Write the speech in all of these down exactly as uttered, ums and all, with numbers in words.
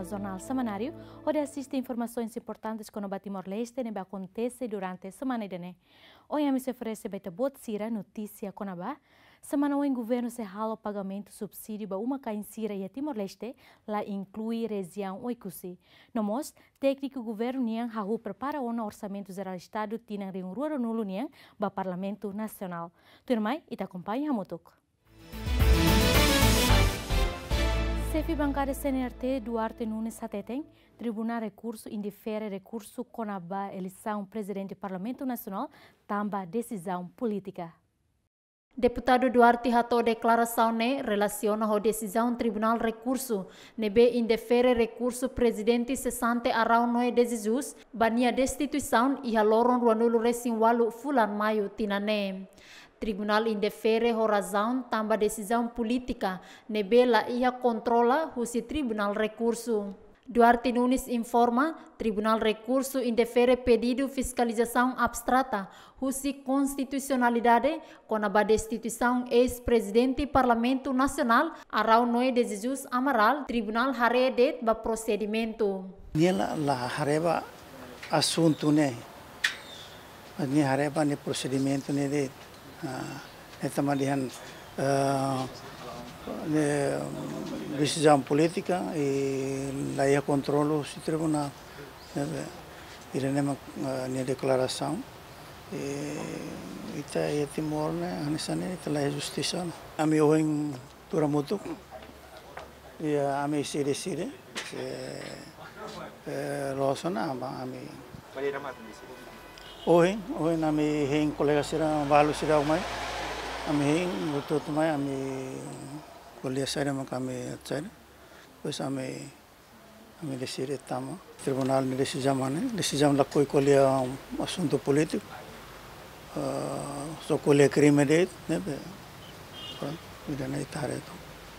Jornál Semanáriu, hodi asiste informasoens importantes kona-ba Timor-Leste ne'ebé akontese durante semana ida-ne'e. Ohin ami sei oferese ba ita-boot sira notísia kona-ba: semana oin governu sei halo pagamentu subsídiu ba uma-kain sira iha Timor-Leste, la inklui rejiaun Oekusi. No mós, tékniku governu nian hahú prepara ona Orsamentu Jerál Estadu tinan rihun rua ruanulu nian ba Parlamentu Nasionál. Tuirmai, ita akompaña hamutuk. Xefe bankada C N R T, Duarte Nunes hateten, Tribunál Rekursu indefere rekursu kona-ba eleisaun Prezidente Parlamentu Nasionál tanba desizaun polítika. Deputadu Duarte hato'o deklarasaun ne'e relasiona ho desizaun Tribunál Rekursu ne'ebé indefere rekursu Prezidente sesante Araújo Noé de Jesus ba nia destituisaun iha loron ruanulu resin ualu fulan Maiu tinan ne'e. Tribunál indefere ho razaun tanba desizaun polítika ne'ebé la iha kontrola husi Tribunál Rekursu. Duarte Nunes informa, Tribunál Rekursu indefere pedidu fiskalizasaun abstrata husi Konstitusionalidade kona-ba destituisaun eis-Prezidente Parlamentu Nasionál, Araújo Noé de Jesus Amaral. Tribunál haree de'it ba prosedimentu. Nia la, la haree ba asuntu ne'e. Mas nia haree ba nia prosedimentu ne'e de'it. Ah, ne'e tanba dehan, eh, ne'e desizaun polítika i la iha kontrolu husi tribunál. Ne'ebé, ida-ne'e mak, eh, nia deklarasaun. I ita iha Timor ne'e, hanesan ne'e ita la iha justisa, no. Ami ohin tuur hamutuk. Iha ami sei deside, se, eh, loos ona ba ami. Ohin, ohin ami hein kolega sira, balu sira mai. Ami hein, hotu-hotu mai, ami ko'alia saida mak ami saida. Depois ami, ami deside tama. Tribunál nia desizaun ne'e, desizaun lakohi ko'alia asuntu polítiku. Eh, só ko'alia krime de'it, ne'ebé, prontu, ida-ne'e ita haree uitoan.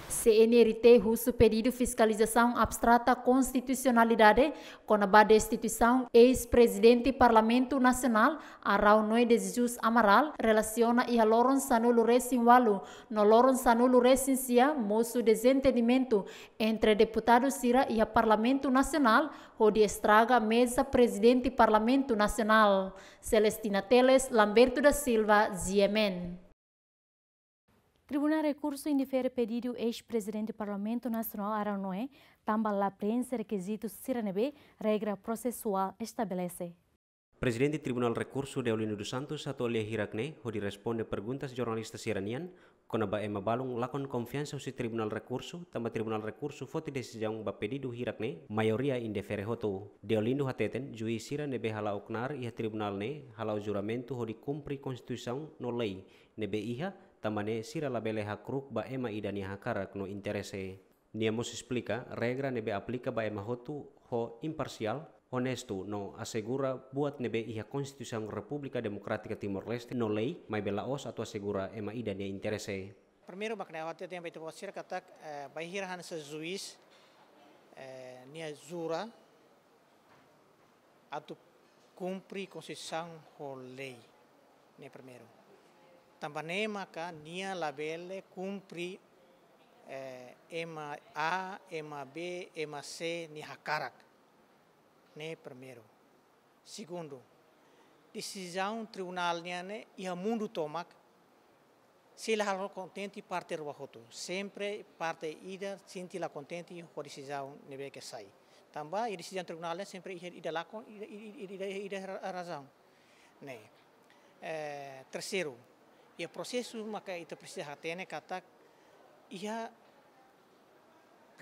C N R T husu pedidu fiskalizasaun abstrata Konstitusionalidade kona-ba destituisaun eis-Prezidente Parlamentu Nasionál, Araújo Noé de Jesus Amaral, relasiona iha loron sanulu resin ualu no loron sanulu resin sia mosu dezentendimentu entre deputadu sira iha Parlamentu Nasionál, hodi estraga meza Prezidente Parlamentu Nasionál. Celestina Teles, Lamberto da Silva, G M N. Tribunál Rekursu indefere pedidu eis-Prezidente Parlamentu Nasionál Araújo Noé, tanba la preenxe rekizitu sira ne'ebé regra prosesuál estabelese. Prezidente Tribunál Rekursu Deolindo dos Santos hato'o lia hirak ne'e hodi responde perguntas jornalista sira-nian kona-ba ema balun lakon konfiansa husi Tribunál Rekursu, tanba Tribunál Rekursu foti desizaun ba pedidu hirak ne'e maioria indefere hotu. Deolindo hateten, juís sira ne'ebé hala'o knaar iha tribunál ne'e hala'o juramentu hodi kumpre Konstituisaun no lei ne'ebé iha, tanba ne'e sira labele hakru'uk ba ema ida nia hakarak no interese. Nia mós esplika, regra ne'ebé aplika ba ema hotu ho imparsiál, onestu no asegura buat ne'ebé iha Konstituisaun Repúblika Demokrátika Timor-Leste no lei, maibé la'ós atu asegura ema ida nia interese. Primeiru, mak ne'e ha'u hateten ba ita-boot sira katak, eh, bainhira hanesan juís, eh, nia jura atu kumpre Konstituisaun ho lei. Ne'e primeiru. Tanba ne'e maka nia labele kumpre, eh, ema A, ema B, ema C nia hakarak. Ne'e primeiru. Segundu, desizaun tribunál nian ne'e iha mundu tomak, sei la halo kontente parte rua hotu. Sempre parte ida sente la kontente ho desizaun ne'ebé ke sai. Tanba iha desizaun tribunál ne'e sempre iha ida lakon, ida, ida, ida, ida, ida ra-, razaun. Ne'e. Eh, terseiru, iha prosesu maka ita presiza hatene katak iha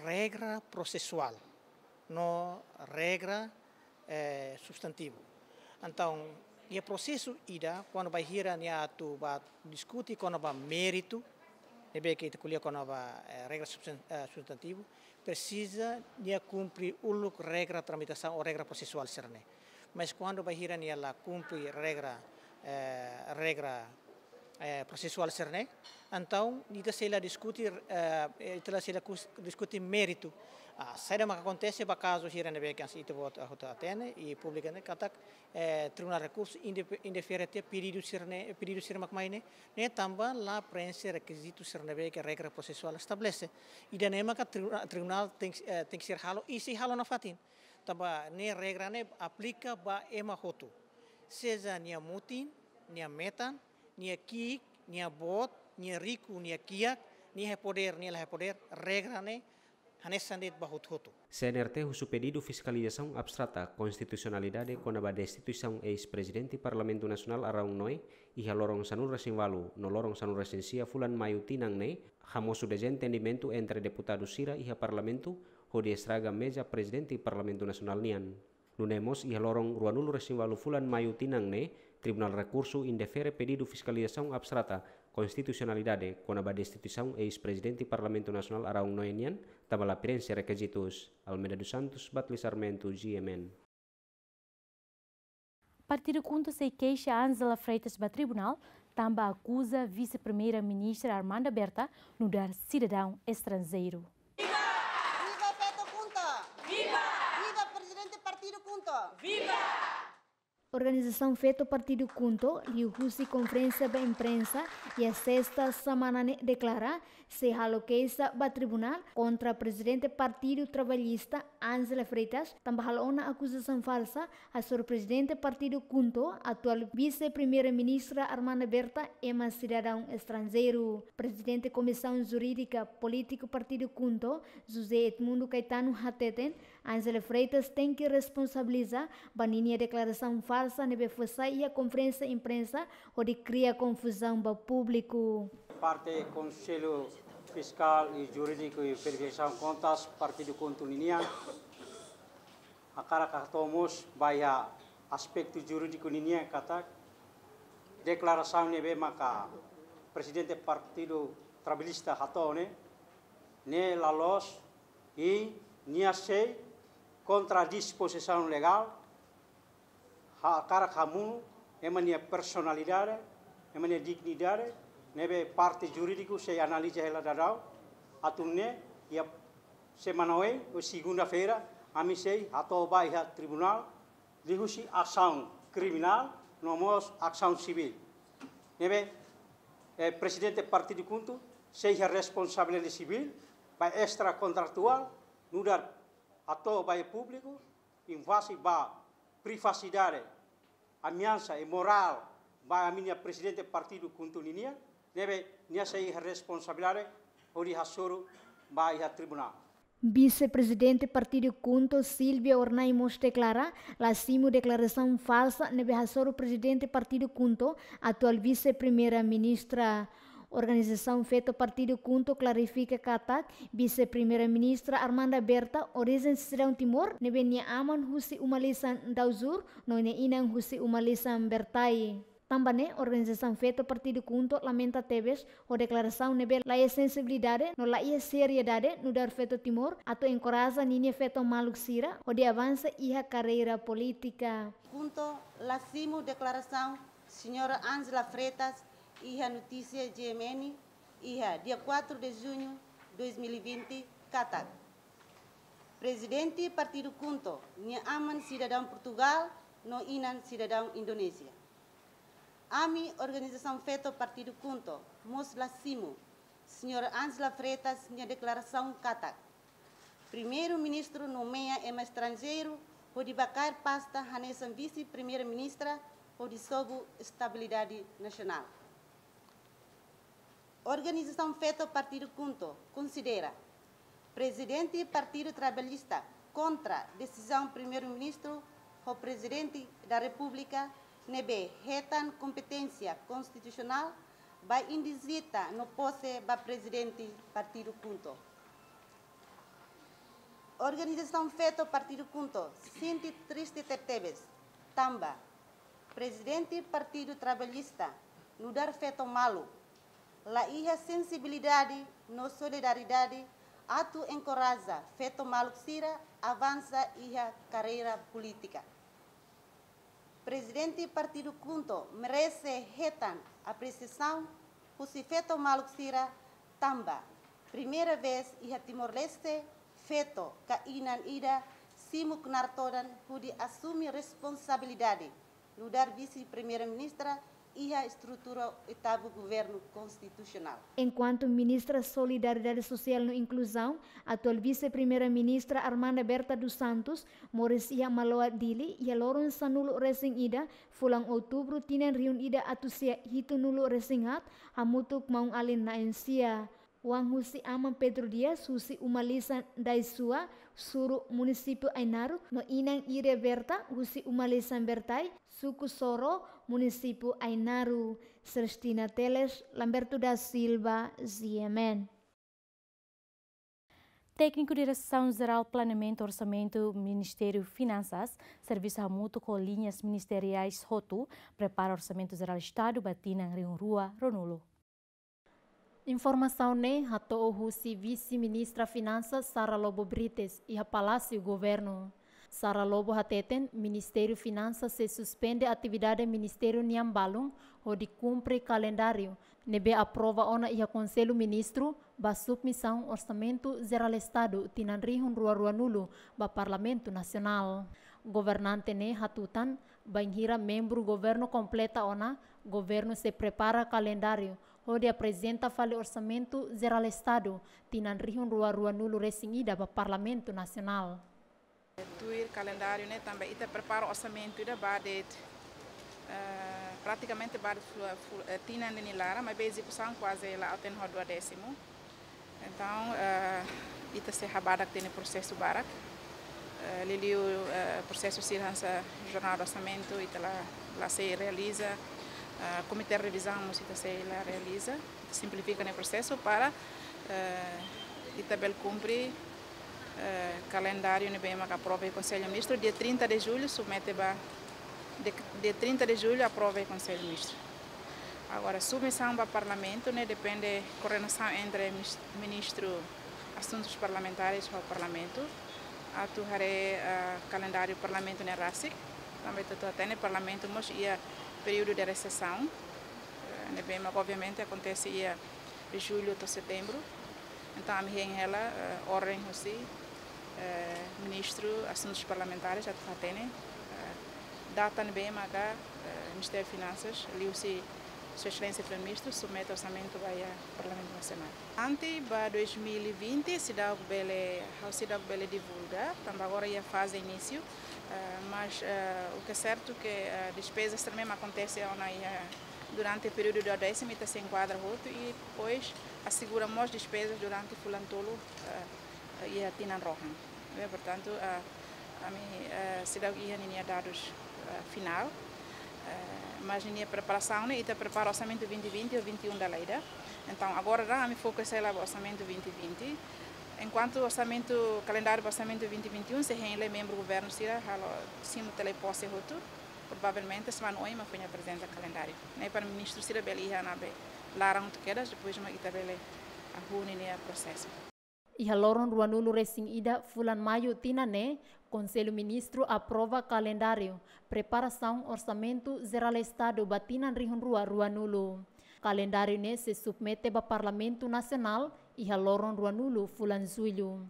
regra prosesuál no regra, eh, substantivu. Entaun, iha prosesu ida, kuandu bainhira nia atu bá diskute kona-ba méritu, ne'ebé ke ita ko'alia kona-ba, eh, regra substan-, eh, substantivu, presiza nia kumpre uluk regra tramitasaun ou regra prosesuál sira-ne'e. Mas kuandu bainhira nia la kumpre regra, eh, regra eh, prosesuál sira-ne'e. Entaun, ita sei la diskute, eh, ita la sei la kus-, diskute méritu. Ah, saida maka akontese ba kazu sira ne'ebé ke ita-boot, ah, hotu hatene, i públiku ne'e katak, eh, Tribunál Rekursu inde-, indefere tiha pedidu sira-ne'e, pedidu sira mak mai ne'e, ne'e tanba la preenxe rekizitu sira ne'ebé ke regra prosesuál estabelese. Ida-ne'e maka tribuna-, tribunál tenke, eh, tenke ser halo, i sei halo nafatin. Tanba ne'e regra ne'e aplika ba ema hotu. Seja nia mutin, nia metan, nia ki'ik, nia boot, nia riku, nia kiak, nia iha podér, nia la iha podér, regra ne'e hanesan de'it ba hotu-hotu. C N R T husu pedidu fiskalizasaun abstrata konstitusionalidade kona-ba destituisaun eis-Prezidente Parlamentu Nasionál Araun Noe iha loron sanulu-resin-ualu no loron sanulu-resin-sia fulan Maiu tinan ne'e, hamosu dezentendimentu entre deputadu sira iha Parlamentu, hodi estraga meza Prezidente Parlamentu Nasionál nian. Nune'e mós iha loron ruanulu-resin-ualu fulan Maiu tinan ne'e, Tribunál Rekursu indefere pedidu fiskalizasaun abstrata konstitusionalidade kona-ba destituisaun eis-Prezidente Parlamentu Nasionál Araun Noe nian, tanba la preenxe rekizitus. Almeida dos Santos, Batli Sarmento, G M N. Partidu KHUNTO sei keixa Ângela Freitas ba tribunál, tanba akuza Vise-Primeira-Ministra Armanda Berta nu'udar sidadaun estranjeiru. Viva Feto KHUNTO! Viva! Viva Prezidente Partidu KHUNTO! Viva! Organizasaun Feto Partidu KHUNTO liuhusi konferénsia ba imprensa iha sesta semana ne'e deklara sei halo keixa ba tribunál kontra Prezidente Partidu Trabalhista Ângela Freitas, tanba halo ona akuzasaun falsa hasoru Prezidente Partidu KHUNTO, atuál Vise-Primeira-Ministra Armanda Berta, ema sidadaun estranjeiru. Prezidente Komisaun Jurídika Polítiku Partidu KHUNTO, José Edmundo Caetano, hateten, Ângela Freitas tenke responsabiliza ba ninia deklarasaun falsa ne'ebé fó sai iha konferénsia imprensa hodi kria konfuzaun ba públiku. Parte Konsellu Fiskál i Jurídiku i Verifikasaun Kontas Partidu KHUNTO ninian hakarak hato'o mós ba iha aspetu jurídiku ninian katak deklarasaun ne'ebé maka Prezidente Partidu Trabalhista hato'o ne'e, ne'e la loos i nia sei kontra dispozisaun legál, hakarak hamonu ema nia personalidade, ema nia dignidade, ne'ebé parte jurídiku sei analiza hela daudaun, atu nune'e iha semana oin, ou segunda-feira, ami sei hato'o ba iha tribunál, liuhusi asaun kriminál, no mós asaun sivíl. Ne'ebé, eh, Prezidente Partidu KHUNTO sei iha responsabilidade sivíl ba estrakontratuál, nu'udar hato'o ba iha públiku, invazão ba privasidade, ameasa imorál ba ami-nia Prezidente Partidu KHUNTO ninian, ne'ebé nia sei iha responsabilidade hodi hasoru ba iha tribunál. Vise-Prezidente Partidu KHUNTO, Silvia Hornai mós deklara la simu deklarasaun falsa ne'ebé hasoru Prezidente Partidu KHUNTO, atuál Vise-Primeira-Ministra. Organizasaun Feto Partidu KHUNTO klarifika katak Vise-Primeira-Ministra Armanda Berta orijen sidadaun Timor, ne'ebé nia aman husi uma lisan Dauzur, no nia inan husi uma lisan Bertai. Tanba ne'e, organizasaun Feto Partidu KHUNTO lamenta tebes ho deklarasaun ne'ebé la iha sensibilidade no la iha seriedade nu'udar feto Timor atu enkoraja ninia feto maluk sira hodi avansa iha karreira polítika. KHUNTO la simu deklarasaun Señora Ângela Freitas iha notísia G M N iha dia quatro de junho dois mil e vinte, katak Prezidente Partidu KHUNTO nia aman sidadaun Portugál no inan sidadaun Indonézia. Ami, organizasaun Feto Partidu KHUNTO, mós la simu Señora Ângela Freitas nia deklarasaun katak Primeiru-Ministru nomeia ema estranjeiru hodi ba kaer pasta hanesan Vise-Primeira-Ministra hodi sobu estabilidade nasionál. Organizasaun Feto Partidu KHUNTO konsidera Prezidente Partidu Trabalhista kontra desizaun Primeiru-Ministru ho Prezidente da Repúblika ne'ebé hetan kompeténsia konstitusionál ba indizita no pose ba Prezidente Partidu KHUNTO. Organizasaun Feto Partidu KHUNTO sente triste tebetebes, tanba Prezidente Partidu Trabalhista nu'udar feto maluk la iha sensibilidade no solidariedade atu enkoraja feto maluk sira avansa iha karreira polítika. Prezidente Partidu KHUNTO merese hetan Apresiasaun husi feto maluk sira tanba primeira vez iha Timor-Leste, feto ka inan ida simu knaar todan hodi asume responsabilidade nu'udar Vise-Primeira-Ministra iha estrutura oitavu Governu Konstitusionál. Enkuantu Ministra Solidariedade Sosiál no Inkluzaun, atuál Vise-Primeira-Ministra Armanda Berta dos Santos, moris iha Maloa, Dili, iha loron sanulu-resin-ida, fulan Outubru, tinan rihun ida atus sia hitunulu-resin-haat, hamutuk maun-alin na'in-sia. Oan husi aman Pedro Dias, husi uma lisan Daisua, Suru, Munisípiu Ainaro, no inan Iria Berta, husi uma lisan Bertai, Suku Soro, Munisípiu Ainaro. Celestina Teles, Lamberto da Silva, G M N. Tékniku Diresaun Jerál Planeamentu Orsamentu Ministériu Finansas, servisu hamutuk ho liñas ministeriais hotu, prepara Orsamentu Jerál Estadu ba tinan rihun rua ruanulu. Informasaun ne'e hato'o husi Vise-Ministra Finansas Sara Lobo Brites iha Palásiu Governu. Sara Lobo hateten, Ministériu Finansas sei suspende atividade ministériu nian balun hodi kumpre kalendáriu ne'ebé aprova ona iha Konsellu Ministru ba submisaun Orsamentu Jerál Estadu tinan rihun rua ruanulu ba Parlamentu Nasionál. Governante ne'e hatutan, bainhira membru governu kompleta ona, governu sei prepara kalendáriu hodi aprezenta fali Orsamentu Jerál Estadu tinan rihun rua ruanulu-resin-ida ba Parlamentu Nasionál. Tuir kalendáriu ne'e tanba ita prepara orsamentu ida ba de'it, eh, pratikamente ba de'it flu-, flu-, eh, tinan ida nia laran, maibé ezekusaun kuaze la'o to'o duadésimu. Entaun, eh, ita sei habadak tiha ona prosesu barak. Eh, liuliu, eh, prosesu sira hanesan jornada orsamentu, ita la, la sei realiza. Eh, komité revizaun mós ita sei la realiza. Ita simplifika nia prosesu para, eh, ita bele kumpre, eh, kalendáriu ne'ebé mak aprova iha Konsellu Ministru. Dia trinta de julho, submete ba, de, dia trinta de julho, aprova iha Konsellu Ministru. Agora, submisaun ba Parlamentu ne'e depende koordenasaun entre mis-, Ministru Asuntus Parlamentares ho Parlamentu. Atu haree, ah, kalendáriu Parlamentu ne'e rasik. Tanba ita hatene Parlamentu mós iha períodu de resesaun. Eh, ne'ebé mak obviamente akontese iha jullu to'o setembru. Entaun, ami hein hela, eh, orden husi, eh, Ministru Asuntus Parlamentares atu hatene, eh, data ne'ebé maka, eh, Ministériu Finansas, liuhusi Sua Exelénsia Primeiru-Ministru, submete orsamentu ba iha Parlamentu Nasionál. Ante ba dois mil e vinte, seidauk bele, ha'u seidauk bele divulga, tanba agora iha faze inísiu, eh, mas, eh, o que é certo que, eh, despezas também akontese ona iha durante períodu duadésimu, ita sei enkuadra hotu i depois asegura mós despezas durante fulan tolu, eh, iha tinan rohan. Eh, portantu, eh, ami, eh, seidauk iha ninia dadus, eh, finál. Eh, mas ninia preparasaun ne'e, ita prepara orsamentu vinte vinte ho vinte e um dala ida. Entaun, agora daudaun ami foka hela ba orsamentu vinte vinte. Enkuantu orsamentu, kalendáriu ba orsamentu vinte vinte e um, sei hein hela membru governu sira halo simu toma pose hotu. Provavelmente semana oin mak foin aprezenta kalendáriu ne'e para ministru sira bele iha ona be laran hotu kedas, depois mak ita bele hahú ninia prosesu. Iha loron ruanulu-resin-ida fulan Maiu tinan ne'e, Konsellu Ministru aprova kalendáriu preparasaun Orsamentu Jerál Estadu ba tinan rihun rua ruanulu. Kalendáriu ne'e sei submete ba Parlamentu Nasionál iha loron ruanulu fulan Jullu.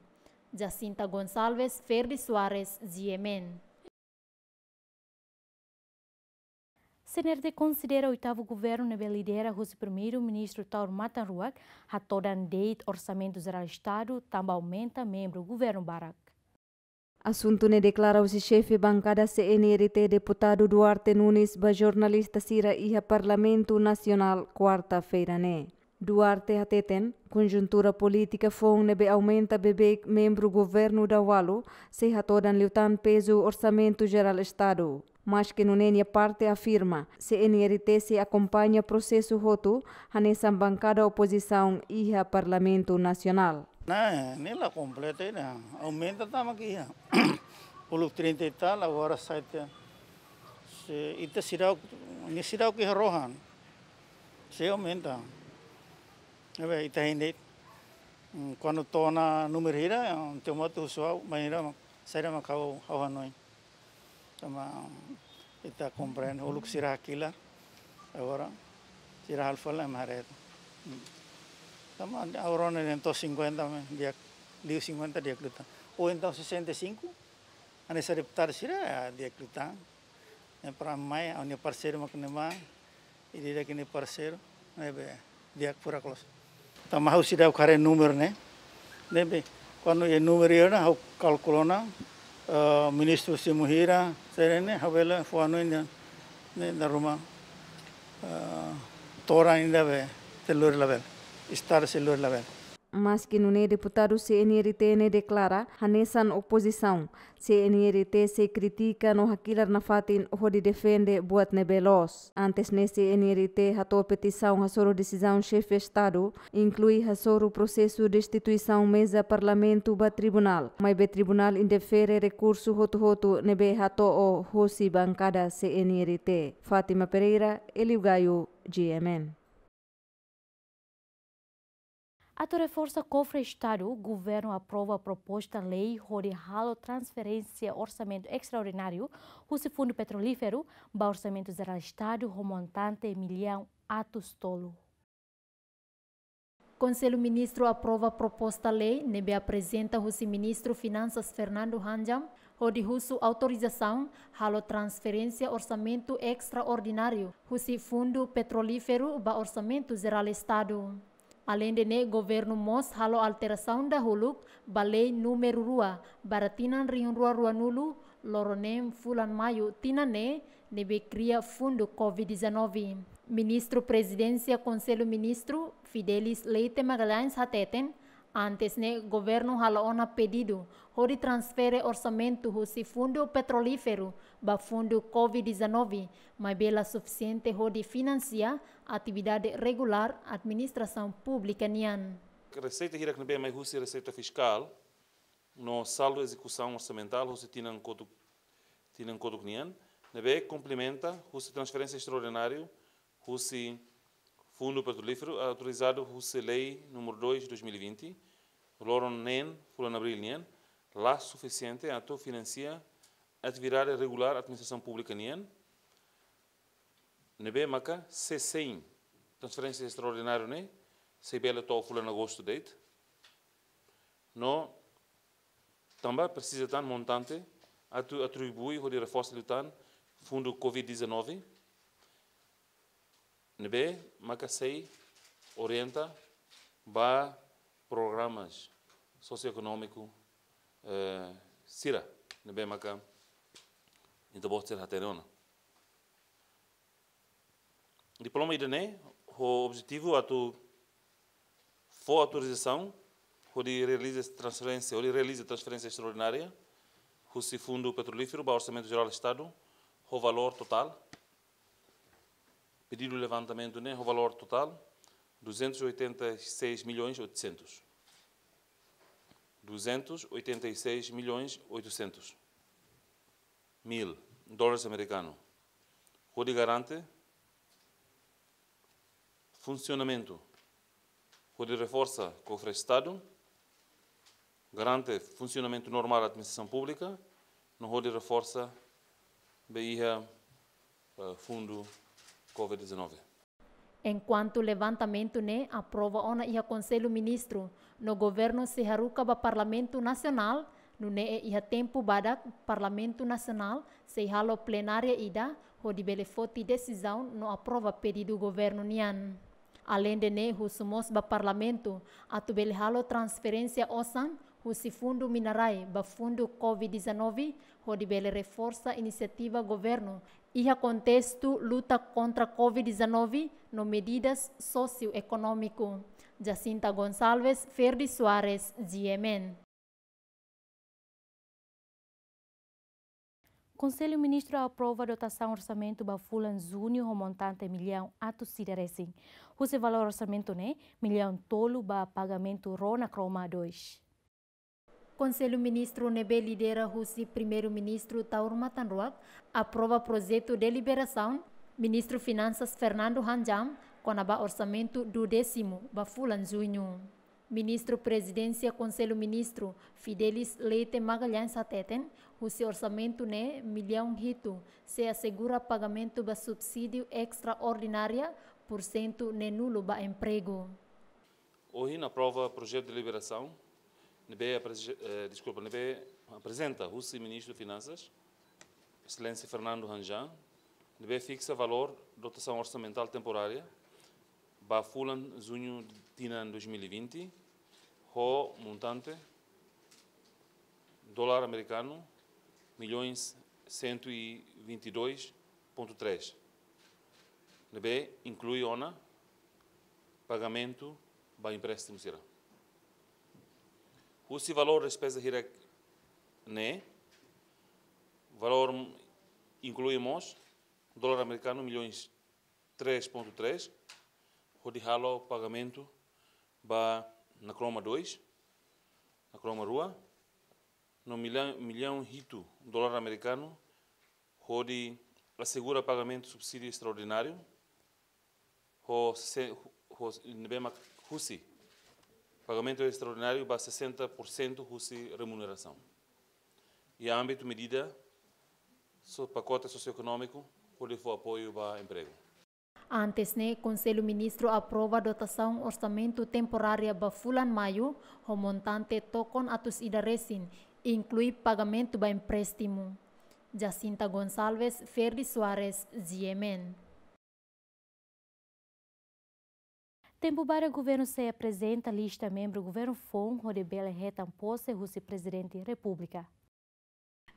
Jacinta Gonçalves, Ferdi Soares, G M N. C N R T konsidera oitavu governu ne'ebé lidera husi Primeiru-Ministru Taur Matan Ruak hatodan de'it Orsamentu Jerál Estadu tanba aumenta membru governu barak. Asuntu ne'e deklara husi xefe bankada C N R T Deputadu Duarte Nunes ba jornalista sira iha Parlamentu Nasionál, kuarta-feira ne'e. Duarte hateten, konjuntura polítika foun ne'ebé aumenta beibeik membru governu daualu, sei hatodan liután pezu Orsamentu Jerál Estadu. Maske nune'e nia parte afirma, C N R T sei akompaña prosesu hotu, hanesan bankada opozisaun iha Parlamentu Nasionál. Ne'e, ne'e la kompleta ida, aumenta tama ke iha. Uluk trinta e tal, agora sai tiha. Se ita seidauk, ne'e seidauk iha rohan. Sei aumenta. Ne'ebé ita hein de'it, mm, kuandu to'o ona númeru hira, entaun ita mós husu ha'u, bainhira mak, saida mak ha'u, ha'u hanoin. Tanba ita komprende, uluk sira hakilar. Agora, Sira halo fali ema haree. Hmm. Tanba agora ne'e entaun cinquenta, mas di'ak, liu cinquenta di'ak liután. Ou entaun sessenta e cinco, hanesan deputadu sira, ah, di'ak liután. Ne'e para mai, ha'u-nia parseiru mak ne'e mai, ida-idak nia parseiru, ne'ebé di'ak furak loos. Tanba ha'u seidauk haree númeru ne'e. Ne'ebé, kuandu iha númeru ne'e ha'u kalkula ona, eh, ministru simu hira, sira-ne'e, ha'u bele fó hanoin ne'e, ne'e dala ruma, eh, todan ida be, sei lori labele. Estadu sei lori labele. Maski nune'e deputadu C N R T ne'e deklara hanesan opozisaun, C N R T sei kritika no hakilar nafatin hodi defende buat ne'ebé loos. Antes ne'e C N R T hato'o petisaun hasoru desizaun xefe Estadu, inklui hasoru prosesu destituisaun meza Parlamentu ba tribunál. Maibé tribunál indefere rekursu hotu-hotu ne'ebé hato'o hosi bankada C N R T. Fátima Pereira, Elio Gaio, G M N. Atu reforsa kofre Estadu, Governu aprova proposta lei hodi halo transferénsia orsamentu estraordináriu husi Fundu Petrolíferu ba Orsamentu Jerál Estadu ho montante millaun atus tolu. Konsellu Ministru aprova proposta lei ne'ebé aprezenta husi Ministru Finansas Fernando Hanjam, hodi husu autorizasaun halo transferénsia orsamentu estraordináriu husi Fundu Petrolíferu ba Orsamentu Jerál Estadu. Aleinde ne'e, Governu mós halo alterasaun dahuluk ba Lei númeru rua, barra tinan rihun rua ruanulu, loron neen fulan Maiu tinan ne'e, ne'ebé kria Fundu Covid dezanove. Ministru Prezidénsia Konsellu Ministru, Fidelis Leite Magalhães hateten, antes ne'e Governu hala'o ona pedidu hodi transfere orsamentu husi Fundu Petrolíferu ba Fundu Covid dezanove, maibé la sufisiente hodi finansia atividade regulár administrasaun públika nian. Reseita hirak ne'ebé mai husi reseita fiskál no saldu ezekusaun orsamentál husi tinan kotuk, tinan kotuk nian, ne'ebé komplementa husi transferénsia estraordináriu husi Fundu Petrolíferu, autorizadu husi Lei númeru dois, dois mil e vinte, loron neen, fulan Abríl nian, la sufisiente atu finansia atividade regulár administrasaun públika nian, ne'ebé maka se sein transferénsia estraordináriu ne'e, sei bele to'o fulan Agostu de'it. No tanba presiza tan montante atu atribui hodi reforsa liután Fundu Covid dezanove, ne'ebé maka sei orienta ba programas sosioekonómiku, eh, sira, ne'ebé maka ita-boot sira hatene ona. Diploma ida-ne'e ho objetivu atu fó autorizasaun hodi realiza transferénsia, hodi realiza transferénsia estraordinária husi Fundu Petrolíferu ba Orsamentu Jerál Estadu ho valór totál. Pedidu levantamentu ne'e ho valór totál duzentos e oitenta e seis milhões oitocentos. Duzentos e oitenta e seis milhões oitocentos mil dólares amerikanu. Hodi garante funsionamentu, hodi reforsa kofre Estadu, garante funsionamentu normál administrasaun públika, no hodi reforsa be iha, eh, Fundu Covid dezanove. Enkuantu levantamentu ne'e aprova ona iha Konsellu Ministru, no Governu sei haruka ba Parlamentu Nasionál, nune'e iha tempu badak Parlamentu Nasionál sei halo plenária ida, hodi bele foti desizaun no aprova pedidu Governu nian. Aleinde ne'e, husu mós ba Parlamentu atu bele halo transferénsia osan husi Fundu Minarai ba Fundu Covid dezanove, hodi bele reforsa inisiativa Governu iha kontestu luta kontra Covid dezanove no medidas sosioekonómiku. Jacinta Gonçalves, Ferdi Soares, G M N. Konsellu Ministru aprova dotasaun orsamentu ba fulan Juñu ho montante millaun atus ida resin. Husi valór orsamentu ne'e, millaun tolu ba pagamentu rona kroma dois. Konsellu Ministru ne'ebé lidera husi Primeiru-Ministru Taur Matan Ruak aprova projetu deliberasaun Ministru Finansas Fernando Hanjam kona-ba orsamentu duodésimu ba fulan Juñu. Ministru Prezidénsia Konsellu Ministru Fidelis Leite Magalhães hateten, husi orsamentu ne'e millaun hitu sei asegura pagamentu ba subsídiu estraordinária por cento ne'e nulo ba empregu. Ohin aprova projetu deliberasaun ne'ebé apreze-, eh, deskulpa, ne'ebé aprezenta husi Ministru Finansas, Exelénsia Fernando Hahn Jhang, ne'ebé fiksa valór dotasaun orsamentál temporária ba fulan juñu tinan dois mil e vinte, ho montante dólar amerikanu milhões cento e vinte e dois ponto três, ne'ebé inklui ona pagamentu ba empréstimu sira. Husi valór despeza hirak-ne'e, valór inklui mós dólar amerikanu milhões três ponto três, hodi halo pagamentu ba Nakroma dois, Nakroma rua, no millaun, millaun hitu dólar amerikanu, hodi asegura pagamentu subsídiu estraordináriu, ho se-, ho, ne'ebé mak husi pagamentu estraordináriu ba sessenta por cento husi remunerasaun. Iha ámbitu medida so-, pakote sosioekonómiku, hodi fó apoiu ba empregu. Antes ne'e, Konsellu Ministru aprova dotasaun orsamentu temporária ba fulan Maiu, ho montante tokon atus ida resin, inklui pagamentu ba empréstimu. Jacinta Gonçalves, Ferdi Soares, G M N. Tempu badak governu sei aprezenta lista membru governu foun hodi bele hetan pose husi Prezidente Repúblika.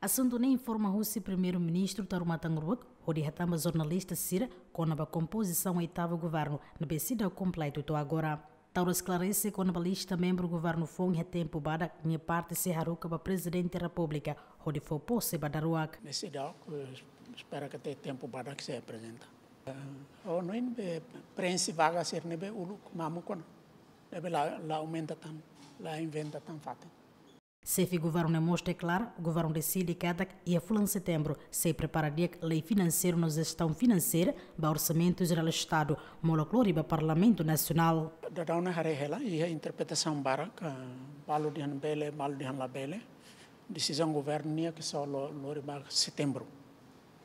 Asuntu ne'e informa husi Primeiru-Ministru Taur Matan Ruak, hodi hatán ba jornalista sira kona-ba kompozisaun oitavu governu, ne'ebé seidauk kompletu to'o agora. Taur esklarese kona-ba lista membru governu foun iha tempu badak, nia parte sei haruka ba Prezidente Repúblika, hodi fó pose ba daruak. Ne'e seidauk, eh, espera katak tempu badak sei aprezenta. Eh, oh, no in be prenxe vaga sira ne'ebé uluk mamuk ona. Ne'ebé la, la aumenta tan, la inventa tan fatin. Xefe governu ne'e mós deklara, governu deside katak iha fulan Setembru sei prepara di'ak lei finanseiru no jestaun finanseira ba Orsamentu Jerál Estadu, molok lori ba Parlamentu Nasionál. Daudaun ne'e haree hela, iha interpretasaun barak, balu dehan bele, balu dehan labele. Desizaun governu nian ke só lo-, lori ba Setembru.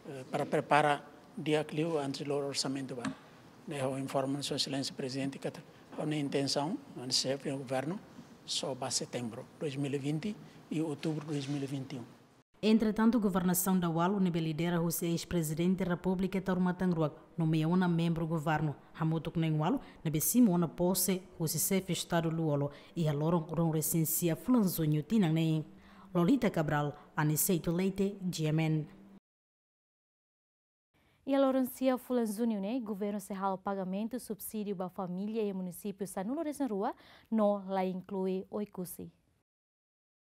Eh, para prepara di'ak liu antes lori orsamentu ba. Ne'e ha'u informa Sua Exelénsia Prezidente katak ha'u-nia intensaun, antes xefe governu, só ba Setembru dois mil e vinte e Outubru dois mil e vinte e um. Entretantu, governasaun daudaun ne'ebé lidera husi eis-Prezidente Repúblika Taur Matan Ruak nomeia ona membru governu, hamutuk na'in-ualu ne'ebé simu ona pose husi Xefe Estadu Lú-Olo iha loron ruanulu-resin-sia fulan Juñu tinan ne'e. Lolita Cabral, Aniceto Leite, G M N. Iha loron sia fulan Juñu ne'e, governu sei halo pagamentu subsídiu ba família iha munisípiu sanulu-resin-rua no la inklui Oekusi.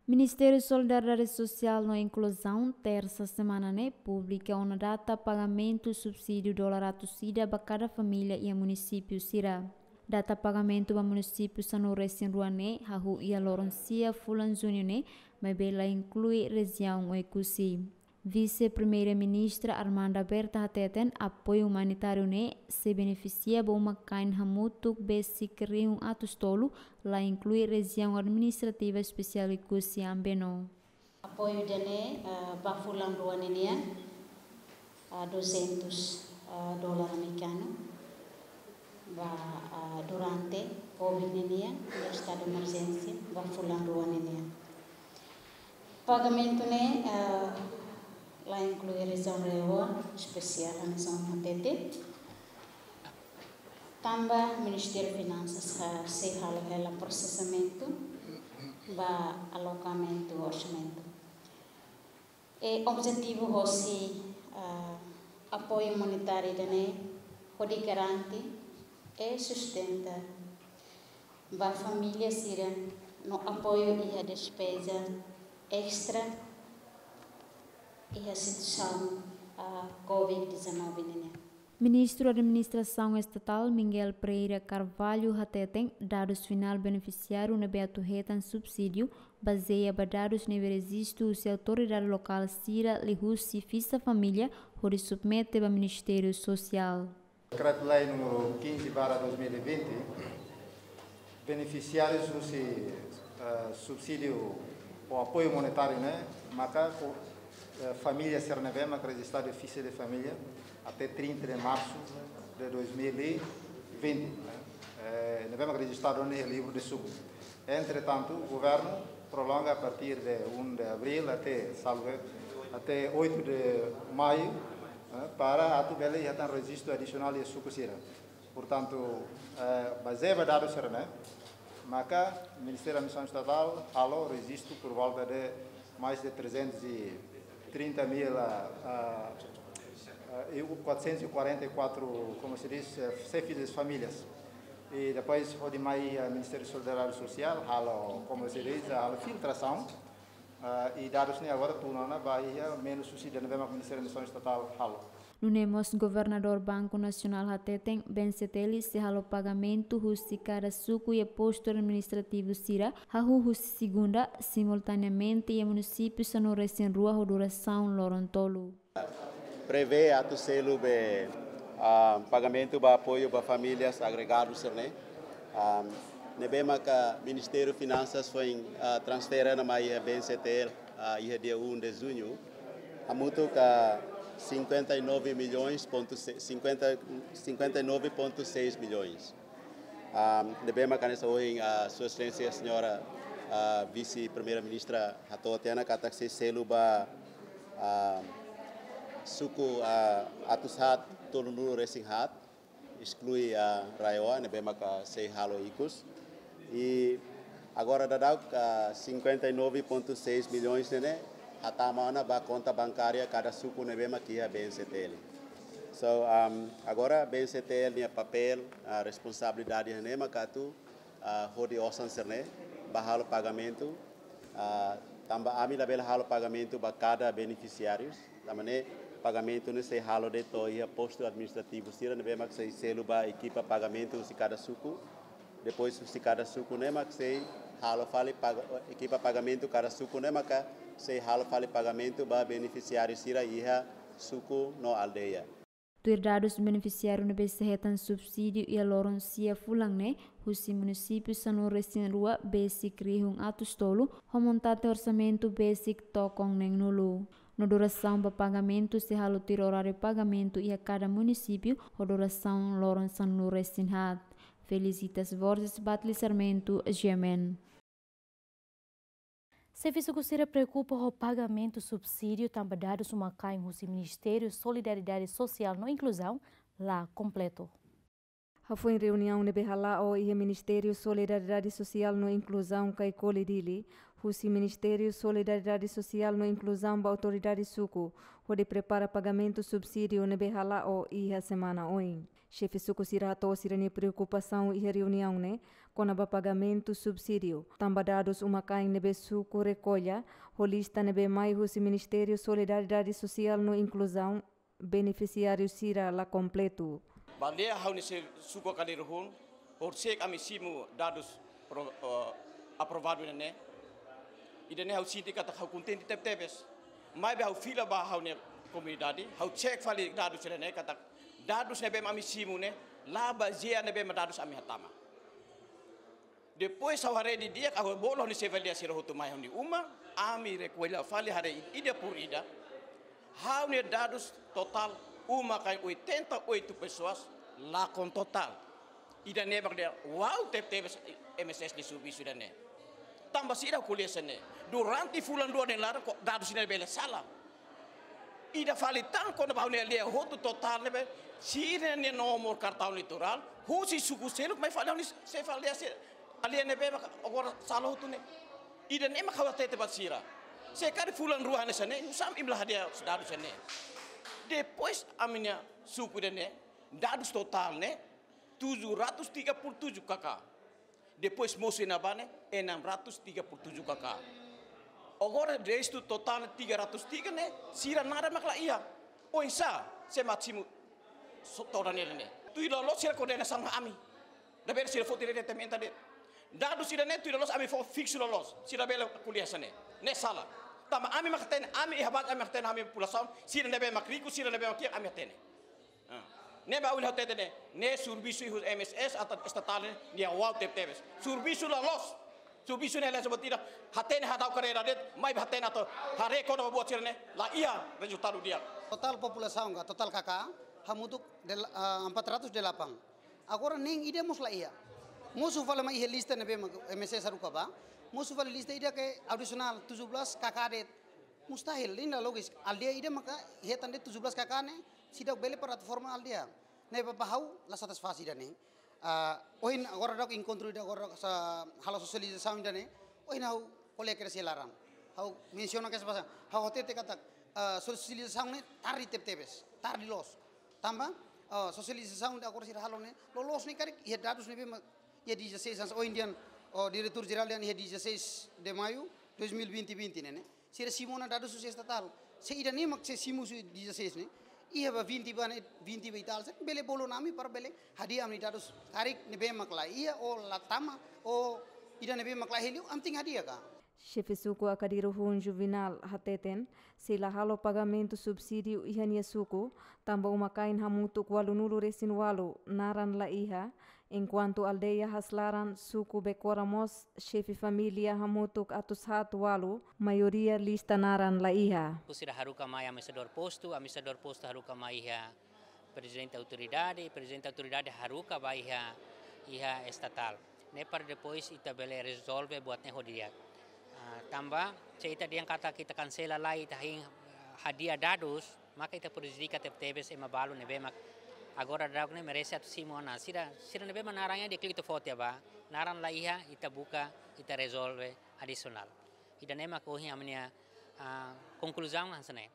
Ministériu Solidariedade Sosiál no Inkluzaun, tersa semana ne'e, publika ona data pagamentu subsídiu dolar atus ida ba kada família iha munisípiu sira. Data pagamentu ba munisípiu sanulu-resin-rua ne'e hahú iha loron sia fulan Juñu ne'e, maibé la inklui rejiaun Oekusi. Vise-Primeira-Ministra Armanda Berta hateten apoiu umanitáriu ne'e sei benefisia ba uma-kain hamutuk besik rihun atus tolu, la inklui Rejiaun Administrativa Espesiál Oekusi Ambeno. Apoiu ida-ne'e, eh, ba fulan rua ninian, eh, duzentos, eh, dolar amerikanu. Ba, ah, durante covid ninian, iha estadu emerjénsia, ba fulan rua ninian. Pagamentu ne'e, ah, la inklui rejiaun RAEOA, espesiál hanesan ohin hatete. Tanba Ministériu Finansas, ah, sei halo hela prosesamentu ba alokamentu orsamentu. E objetivu hosi, ah, apoiu umanitáriu ida-ne'e hodi garante e sustenta ba família sira no apoiu iha despeza estra iha situasaun, ah, covid dezanove ninian. Ministru Administrasaun Estatál Miguel Pereira Carvalho hateten dadus finál benefisiáriu ne'ebé atu hetan subsídiu bazeia ba dadus ne'ebé rejistu husi autoridade lokál sira liuhusi Fisa Família hodi submete ba Ministériu Sosiál. Dekretu-Lei número quinze barra dois mil e vinte, benefisiárius husi, eh, subsídiu ou apoiu monetáriu ne'e maka ho, eh, família sira ne'ebé maka rejistadu iha Fisa Família até trinta de março de dois mil e vinte, eh, ne'ebé mak rejistadu iha livru de suku. Entretantu, governu prolonga a partir de um de abril até, salvo erro, até oito de maio, eh, para atu bele iha tan rejistu adisionál iha suku sira. Portantu, eh, bazeia ba dadus sira-ne'e, maka Ministériu Administrasaun Estatál halo rejistu por volta de mais de trezentos e trinta mil, ah, ah, ah, e quatrocentos e quarenta e quatro, como se diz, eh, chefes de famílias. E depois, hodi mai, eh, Ministériu Solidariedade Sosiál, halo, como se diz, halo filtrasaun. Ah, e dadus ne'e agora tun ona ba iha menu subsídiu ne'ebé mak Ministériu Administrasaun Estatál halo. Nune'e mós Governadór Banku Nasionál hateten, B N C T L sei halo pagamentu husi kada suku iha postu administrativu sira, hahú husi segunda, simultaneamente iha munisípiu sanulu-resin-rua ho durasaun loron tolu. Prevee atu selu be, ah, pagamentu ba apoiu ba famílias agregadu sira-ne'e. Ah, ne'ebé maka Ministériu Finansas foin, ah, transfere ona mai iha B N C T L, ah, iha dia um de junho. Hamutuk ka cinquenta e nove milhões ponto se-, cinquenta, cinquenta e nove ponto seis milhões. Ah, ne'ebé maka hanesan ohin, ah, Sua Exelénsia Señora, ah, Vise-Primeira-Ministra hato'o tiha ona katak sei selu ba, ah, suku, ah, atus haat tolunulu-resin-haat, esklui, ah, RAEOA, ne'ebé maka sei halo ikus. E agora daudaun, ah, cinquenta e nove ponto seis milhões ne'e, ne'e hatama ona ba konta bankária kada suku ne'ebé mak iha B N C T L. So, um, agora B N C T L nia papél, ah, responsabilidade ne'e maka atu, ah, hodi osan sira-ne'e ba halo pagamentu, ah, tanba ami labele halo pagamentu ba kada benefisiárius, tanba ne'e pagamentu ne'e sei halo de'it to'o iha postu administrativu sira ne'ebé mak sei selu ba ekipa pagamentu husi kada suku. Depois husi kada suku ne'e mak sei halo fali paga-, ekipa pagamentu kada suku ne'e maka sei halo fali pagamentu ba benefisiáriu sira iha suku no aldeia. Tuir dadus benefisiáriu ne'ebé sei hetan subsídiu iha loron sia fulan ne'e, husi munisípiu sanulu-resin-rua besik rihun atus tolu, ho montante orsamentu besik tokon neen-nulu. No durasaun ba pagamentu sei halo tuir oráriu pagamentu iha kada munisípiu, ho durasaun loron sanulu-resin-haat. Felicitas Borges, Batli Sarmento, G M N. Xefe suku sira preokupa ho pagamentu subsídiu tanba dadus uma-kain husi Ministériu Solidariedade Sosiál no Inkluzaun la kompletu. Hafoin reuniaun ne'ebé hala'o iha Ministériu Solidariedade Sosiál no Inkluzaun, Kaikoli, Dili, husi Ministériu Solidariedade Sosiál no Inkluzaun ba autoridade suku, hodi prepara pagamentu subsídiu ne'ebé hala'o iha semana oin. Xefe suku sira hato'o sira-nia preokupasaun iha reuniaun ne'e, kona-ba pagamentu subsídiu, tanba dadus uma-kain ne'ebé suku rekolla, ho lista ne'ebé mai husi Ministériu Solidariedade Sosiál no Inkluzaun, benefisiáriu sira la kompletu. Ba lia ha'u-nia xefe suku Kaliruhun, horisehik ami simu dadus pro-, eh, aprovadu ne'e. Ida-ne'e ha'u sente katak ha'u kontente tebetebes. Maibé ha'u fila ba ha'u-nia komunidade, ha'u cek fali dadus sira-ne'e katak dadus ne'ebé ami simu ne'e, la bazeia ne'ebé dadus ami hatama. Depois ha'u haree didi'ak, ha'u bolu ha'u-nia xefe aldeia sira hotu mai ha'u-nia uma, ami rekolla fali haree ida por ida. Ha'u-nia dadus totál uma-kain oitenta e oito pessoas, lakon totál. Ida-ne'e mak dehan, wow, tebetebes M S S nia servisu ida-ne'e. Tanba sira ko'alia hanesan ne'e. Durante fulan rua nia laran, ko-, dadus sira bele sala. Ida fali tan kona-ba ha'u-nia aldeia hotu totál ne'ebé, sira-nia nomor kartaun eleitorál, husi suku seluk mai fali ha'u-nia xefe aldeia sira. Aldeia ne'ebé mak agora sala hotu ne'e. Ida-ne'e mak ha'u hatete ba sira. Se karik fulan rua hanesan ne'e, nusá mak imi la hadi'a dadus ne'e. Depois ami-nia suku ida-ne'e, dadus totál ne'e, tujuh ratus tiga puluh tujuh K K. Depois mosu iha ne'ebá ne'e, enam ratus tiga puluh tujuh K K. Agora restu totál ne'e tiga ratus tiga ne'e, sira nada mak la iha. Oinsá, sé mak simu so-, todan ne'e ne'e. Tuir loloos sira koordenasaun ho ami. Labele sira foti diretamente de'it. Dadus sira-ne'e tuir loloos ami fó fiksu loloos. Sira bele ko'alia hanesan ne'e. Ne'e sala. Tanba ami mak hatene, ami iha baze ami mak hatene ami populasaun, sira ne'ebé mak riku, sira ne'ebé mak kiak, ami hatene. Ah. Ne'ebé ha'u hili hatete ne'e, ne'e servisu iha M S S atu estatál ne'e, nia wow tebetebes. Servisu la loos. Servisu ne'e la seperti ida, hatene hadau karreira de'it, maibé hatene atu haree kona-ba buat sira-ne'e, la iha rezultadu di'ak. Totál populasaun ka, totál K K, hamutuk del-, ah, empat ratus delapan. Agora nein ida mós la iha. Mosu fali mai iha lista ne'ebé mak M S S haruka ba. Mosu fali lista ida ke adisionál tujuh belas K K de'it. Mustahil, nein la logis. Aldeia ida maka hetan de'it tujuh belas K K ne'e, seidauk bele para atu forma aldeia. Ne'ebé ba ha'u la satisfás ida-ne'e. Ah, ohin agora daudauk enkontru ida agora sa halo sosializasaun ida-ne'e. Ohin ha'u kolega kedas iha laran. Ha'u mensiona kedas ba sa. Ha'u hatete katak, ah, sosializasaun ne'e tarde tebetebes, tarde loos. Tanba, ah, sosializasaun ida agora sira halo ne'e, loloos ne'e karik iha dadus ne'ebé mak iha dezasseis, ohin dehan, oh, diretór jerál dehan iha dezasseis de maio dois mil e vinte, vinte ne'e, ne'e. Sira simu ona dadus husi estatál. Se ida-ne'e mak sei simu husi dezasseis ne'e, iha ba vinte ba ne'e, vinte ba e tal, se bele bolu ona ami para bele hadi'a ami-nia dadus karik ne'ebé mak la iha, ou la tama, ou ida ne'ebé mak la iha liu, ami tenke hadi'a ka. Xefe suku Akadiru Hun Juvenal hateten, sei la halo pagamentu subsídiu iha nia suku, tanba uma-kain hamutuk ualunulu-resin-ualu naran la iha, enkuantu aldeia Haslaran, suku Bekora mós, xefe família hamutuk atus haat ualu, maioria lista naran la iha. Husi ida haruka mai administradór postu, administradór postu haruka mai iha prezidente autoridade, prezidente autoridade haruka ba iha, iha estatál. Ne'e para depois ita bele rezolve buat ne'e ho di'ak. Ah, tanba, se ita dehan katak ita kansela lai, ita hein, ah, hadi'a dadus, maka ita prejudika tebetebes ema balu ne'ebé mak agora daudauk ne'e merese atu simu ona. Sira, sira ne'ebé mak naran iha deklitu foti ba, naran la iha, ita buka, ita rezolve adisionál. Ida-ne'e mak ohin ami-nia, ah, konkluzaun hanesan ne'e.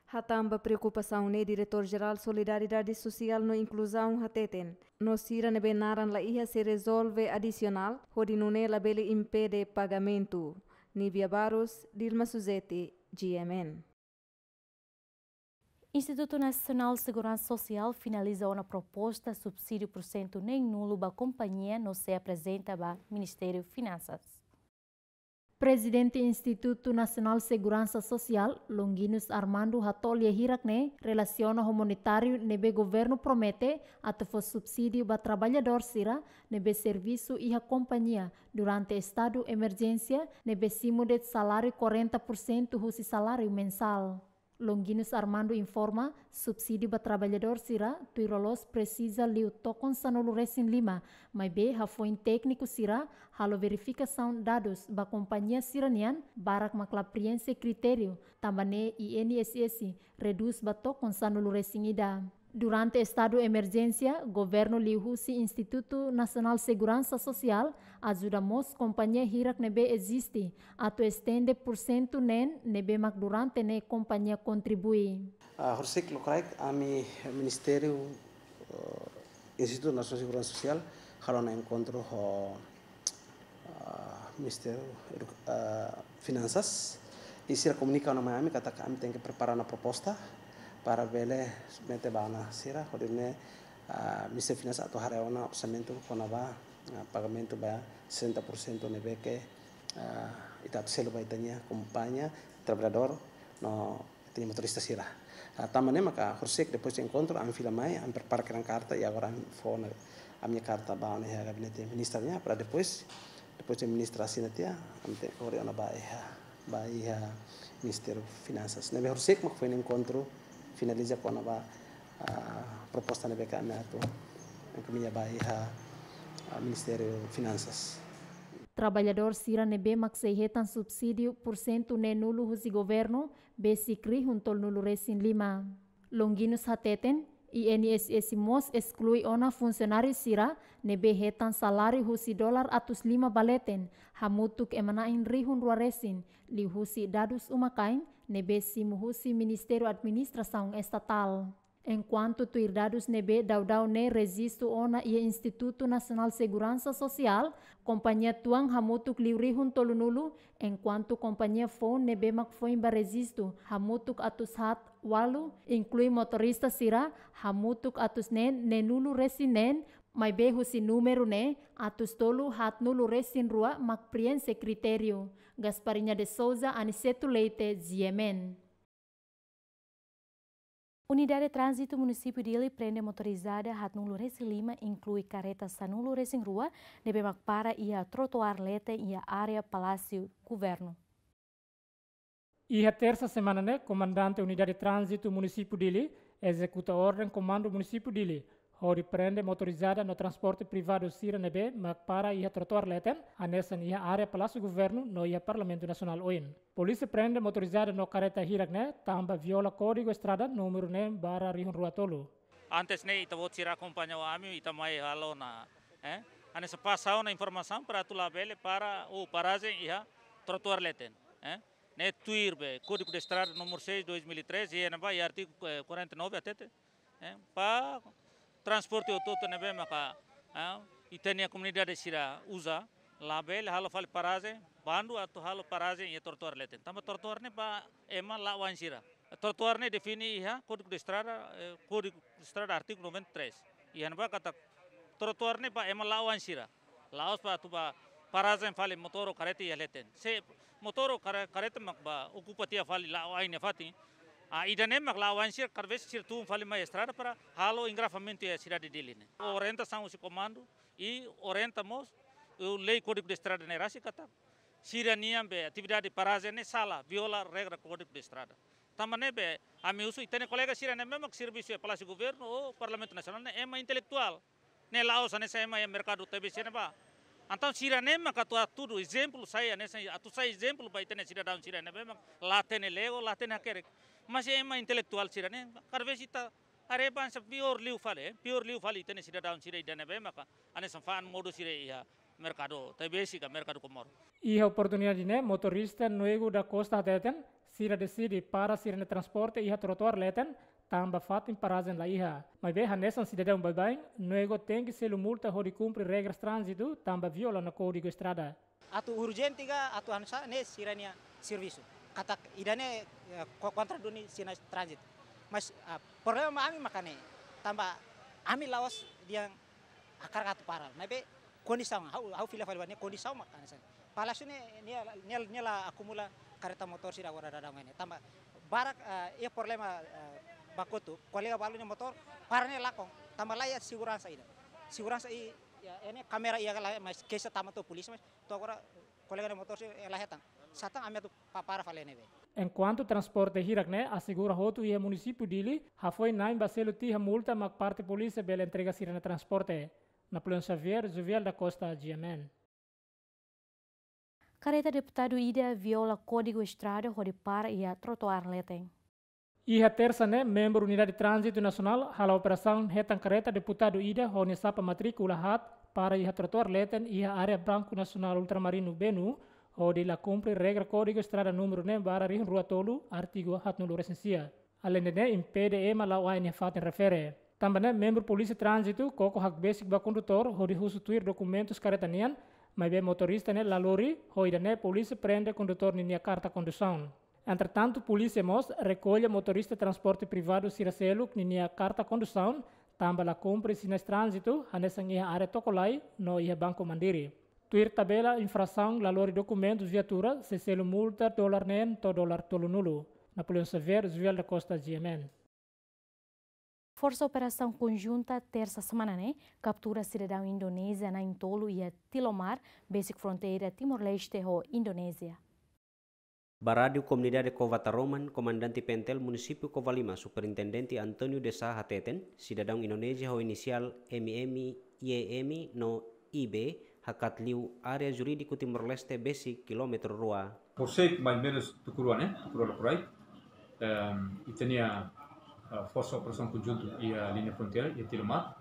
Hatán ba preokupasaun ne'e, Diretór Jerál Solidariedade Sosiál no Inkluzaun hateten, no sira ne'ebé naran la iha sei rezolve adisionál, hodi nune'e labele impede pagamentu. Nívia Barros, Dilma Suzete, G M N. Institutu Nasionál Seguransa Sosiál finaliza ona proposta subsídiu porsentu neen-nulu ba kompañia no sei aprezenta ba Ministériu Finansas. Prezidente Institutu Nasionál Seguransa Sosiál, Longuinhos Armando, hato'o lia hirak ne'e relasiona ho monetáriu ne'ebé governu promete atu fó subsídiu ba traballadór sira ne'ebé servisu iha kompañia durante estadu emerjénsia ne'ebé simu de'it saláriu quarenta por cento husi saláriu mensál. Longuinhos Armando informa, subsídiu ba traballadór sira tuir loloos presiza liu tokon sanulu-resin-lima, maibé hafoin tékniku sira halo verifikasaun dadus ba kompañia sira-nian, barak mak la prienxe kritériu, tanba ne'e I N S S redús ba tokon sanulu-resin-ida. Durante estadu emerjénsia, governu liuhusi Institutu Nasionál Seguransa Sosiál ajuda mós kompañia hirak ne'ebé eziste atu estende porsentu neen ne'ebé mak durante ne'e kompañia kontribui. Ah, horisehik lokraik ami Ministériu, eh, Institutu Nasionál Seguransa Sosiál halo ona enkontru ho ah, Ministériu Edu-, ah, Finansas, i sira komunika ona mai ami katak ami tenke prepara ona proposta para bele submete ba ona sira, hodi nune'e, ah, Ministériu Finansas atu haree ona orsamentu kona-ba, ah, pagamentu ba sesenta por cento ne'ebé ke, ah, ita atu selu ba ita-nia kompañia, traballadór, no ita-nia motorista sira. Ah, tanba ne'e maka horisehik depois de enkontru, ami fila mai, ami prepara kedan karta, i agora ami fó ona, ami-nia karta ba ona iha gabinete ministra nian, para depois, depois de ministra asina tiha, ami tenke kore ona ba iha, ba iha Ministériu Finansas. Ne'ebé horisehik mak foin enkontru finaliza kona-ba, ah, proposta ne'ebé ke ami atu enkaminha ba iha, ah, Ministériu Finansas. Traballadór sira ne'ebé mak sei hetan subsídiu porsentu neen-nulu husi governu, besik rihun tolunulu-resin-lima. Longuinhos hateten, I N S S mós esklui ona funsionáriu sira ne'ebé hetan saláriu husi dolar atus lima ba leten, hamutuk ema na'in rihun rua resin, liuhusi dadus uma-kain ne'ebé simu husi Ministériu Administrasaun Estatál. Enkuantu tuir dadus ne'ebé daudaun ne'e rejistu ona iha Institutu Nasionál Seguransa Sosiál, kompañia tuan hamutuk liu rihun tolunulu, enkuantu kompañia foun ne'ebé mak foin ba rejistu hamutuk atus haat ualu, inklui motorista sira, hamutuk atus neen neenulu-resin-neen, maibé husi númeru ne'e, atus tolu haatnulu-resin-rua mak prienxe kritériu. Gasparinha de Souza, Aniceto Leite, G M N. Unidade Tránzitu Munisípiu Dili prende motorizada haatnulu-resin-lima, inklui kareta sanulu-resin-rua, ne'ebé mak para iha trotoár leten iha área Palásiu Governu. Iha tersa semana ne'e, Komandante Unidade Tránzitu Munisípiu Dili ezekuta orden Komandu Munisípiu Dili, hodi prende motorizada no transporte privadu sira ne'ebé mak para iha trotoar leten, hanesan iha área Palásiu Governu no iha Parlamentu Nasionál oin. Polísia prende motorizada no kareta hirak ne'e tanba viola Kódigu Estrada númeru neen barra rihun rua tolu. Antes ne'e ita-boot sira akompaña ami, ita mai halo ona, eh? Hanesan pasa ona informasaun para atu labele para, ou parajen iha trotoar leten, eh? Ne'e tuir be Código de Estrada número seis, dois mil e treze, iha ne'ebá iha artigu, eh, quarenta e nove hatete, eh, ba transporte hotu-hotu ne'ebé maka, eh, ita-nia komunidade sira uza, labele halo fali parajen, bandu atu halo parajen iha trotoar leten. Tanba trotoar ne'e ba ema la'o ain sira. Trotoar ne'e define iha Código de Estrada, eh, Código de Estrada artigu noventa e três. Iha ne'ebá katak trotoar ne'e ba ema la'o ain sira. La'ós ba atu ba parajen fali motór ou kareta iha leten. Se motór ou kare-, kareta mak ba okupa tiha fali la'o ain nia fatin, ah, ida-ne'e mak la'o ain sira, kada vez sira tun fali mai estrada para halo engarrafamentu iha sidade Dili ne'e. Orientasaun husi komandu i orienta mós, eh, lei Código de Estrada ne'e rasik katak sira-nian be atividade parajen ne'e sala, viola regra Código de Estrada. Tanba ne'ebé, ami husu ita-nia kolega sira ne'ebé mak servisu iha Palásiu Governu ou Parlamentu Nasionál ne'e ema intelektuál. Ne'e la'ós hanesan ema iha merkadu Taibesi ne'ebá. Entaun sira-ne'e mak atu hatudu ezemplu, sai hanesan atu sai ezemplu ba ita-nia sidadaun sira ne'ebé mak la hatene lego, la hatene hakerek. Mas ema intelektuál sira-ne'e, kada vez ita haree ba hanesan piór liu fali, eh, piór liu fali ita-nia sidadaun sira ida ne'ebé maka hanesan fa'an modo sira iha merkadu Taibesi ka merkadu Comoro. Iha oportunidade ne'e, motorista Nuego da Costa hateten, sira deside para sira-nia transporte iha trotoar leten, tanba fatin parajen la iha. Maibé hanesan sidadaun baibain, Nuego tenke selu multa hodi kumpre regras tránzitu, tanba viola ona Kódigu Estrada. Atu urjente ka, atu anu sá ne'e sira-nia servisu. Katak ida-ne'e, eh, ko-, kontra duni sinais tránzitu. Mas, ah, problema ami maka ne'e, tanba ami la'ós dehan hakarak atu para. Maibé kondisaun, ha'u, ha'u fila fali ba ne'e kondisaun maka hanesan. Palásiu ne'e, nia, nia, nia la akumula kareta motór sira agora daudaun ne'e. Tanba barak, eh, iha problema, eh, ba kotuk, kolega balu nia motór para ne'e lakon. Tanba la iha seguransa ida. Seguransa i, ya, ne'e kámera iha ka lae, mas keixa tama to'o polísia, mas to'o agora kolega nia motór sira la hetan. Satán ami atu pa-, para fali ne'ebé. Enkuantu transporte hirak ne'e asegura hotu iha munisípiu Dili, hafoin na'in ba selu tiha multa mak parte polísia bele entrega sira-nia transporte. Napoleão Xavier, Juvial da Costa, G M N. Kareta deputadu ida viola Kódigu Estrada hodi para iha trotoar leten. Iha Tersa ne'e, membru Unidade Tránzitu Nasionál hala'o operasaun hetan kareta deputadu ida ho nia sapa matríkula haat para iha trotoar leten iha área Banku Nasionál Ultramarinu Benu, hodi la kumpre regra Kódigu Estrada númeru neen barra rihun rua tolu, artigu haatnulu resin sia. Aleinde ne'e, impede ema la'o ain iha fatin refere. Tanba ne'e, membru Polísia Tránzitu koko hakbesik ba kondutór hodi husu tuir dokumentus kareta nian, maibé motorista ne'e la lori, ho ida-ne'e polísia prende kondutór ninia karta kondusaun. Entretantu, polísia mós rekolla motorista transporte privadu sira seluk ninia karta kondusaun, tanba la kumpre sinais tránzitu, hanesan iha área Tokolai no iha Banku Mandiri. Tuir tabela infrasaun la lori dokumentus viatura, sei selu multa dolar neen to'o dolar tolunulu. Napoleão Xavier, Juvial da Costa, G M N. Forsa Operasaun Konjunta, Tersa semana ne'e, kaptura sidadaun Indonézia na'in-tolu iha Tilomar, besik fronteira Timor-Leste ho Indonézia. Ba Rádiu Komunidade Cova Taroman, Komandante PNTL Munisípiu Covalima, Superintendente António de Sá hateten, sidadaun Indonézia ho inisiál M M, Y M no I B hakat liu área jurídiku Timor-Leste besik kilómetru rua. Horiseik mais ou menus tuku rua ne'e, tuku rua loron rai. Ehm, ita-nia, ah, Forsa Operasaun Konjunta iha liña fronteira, iha Tilomar.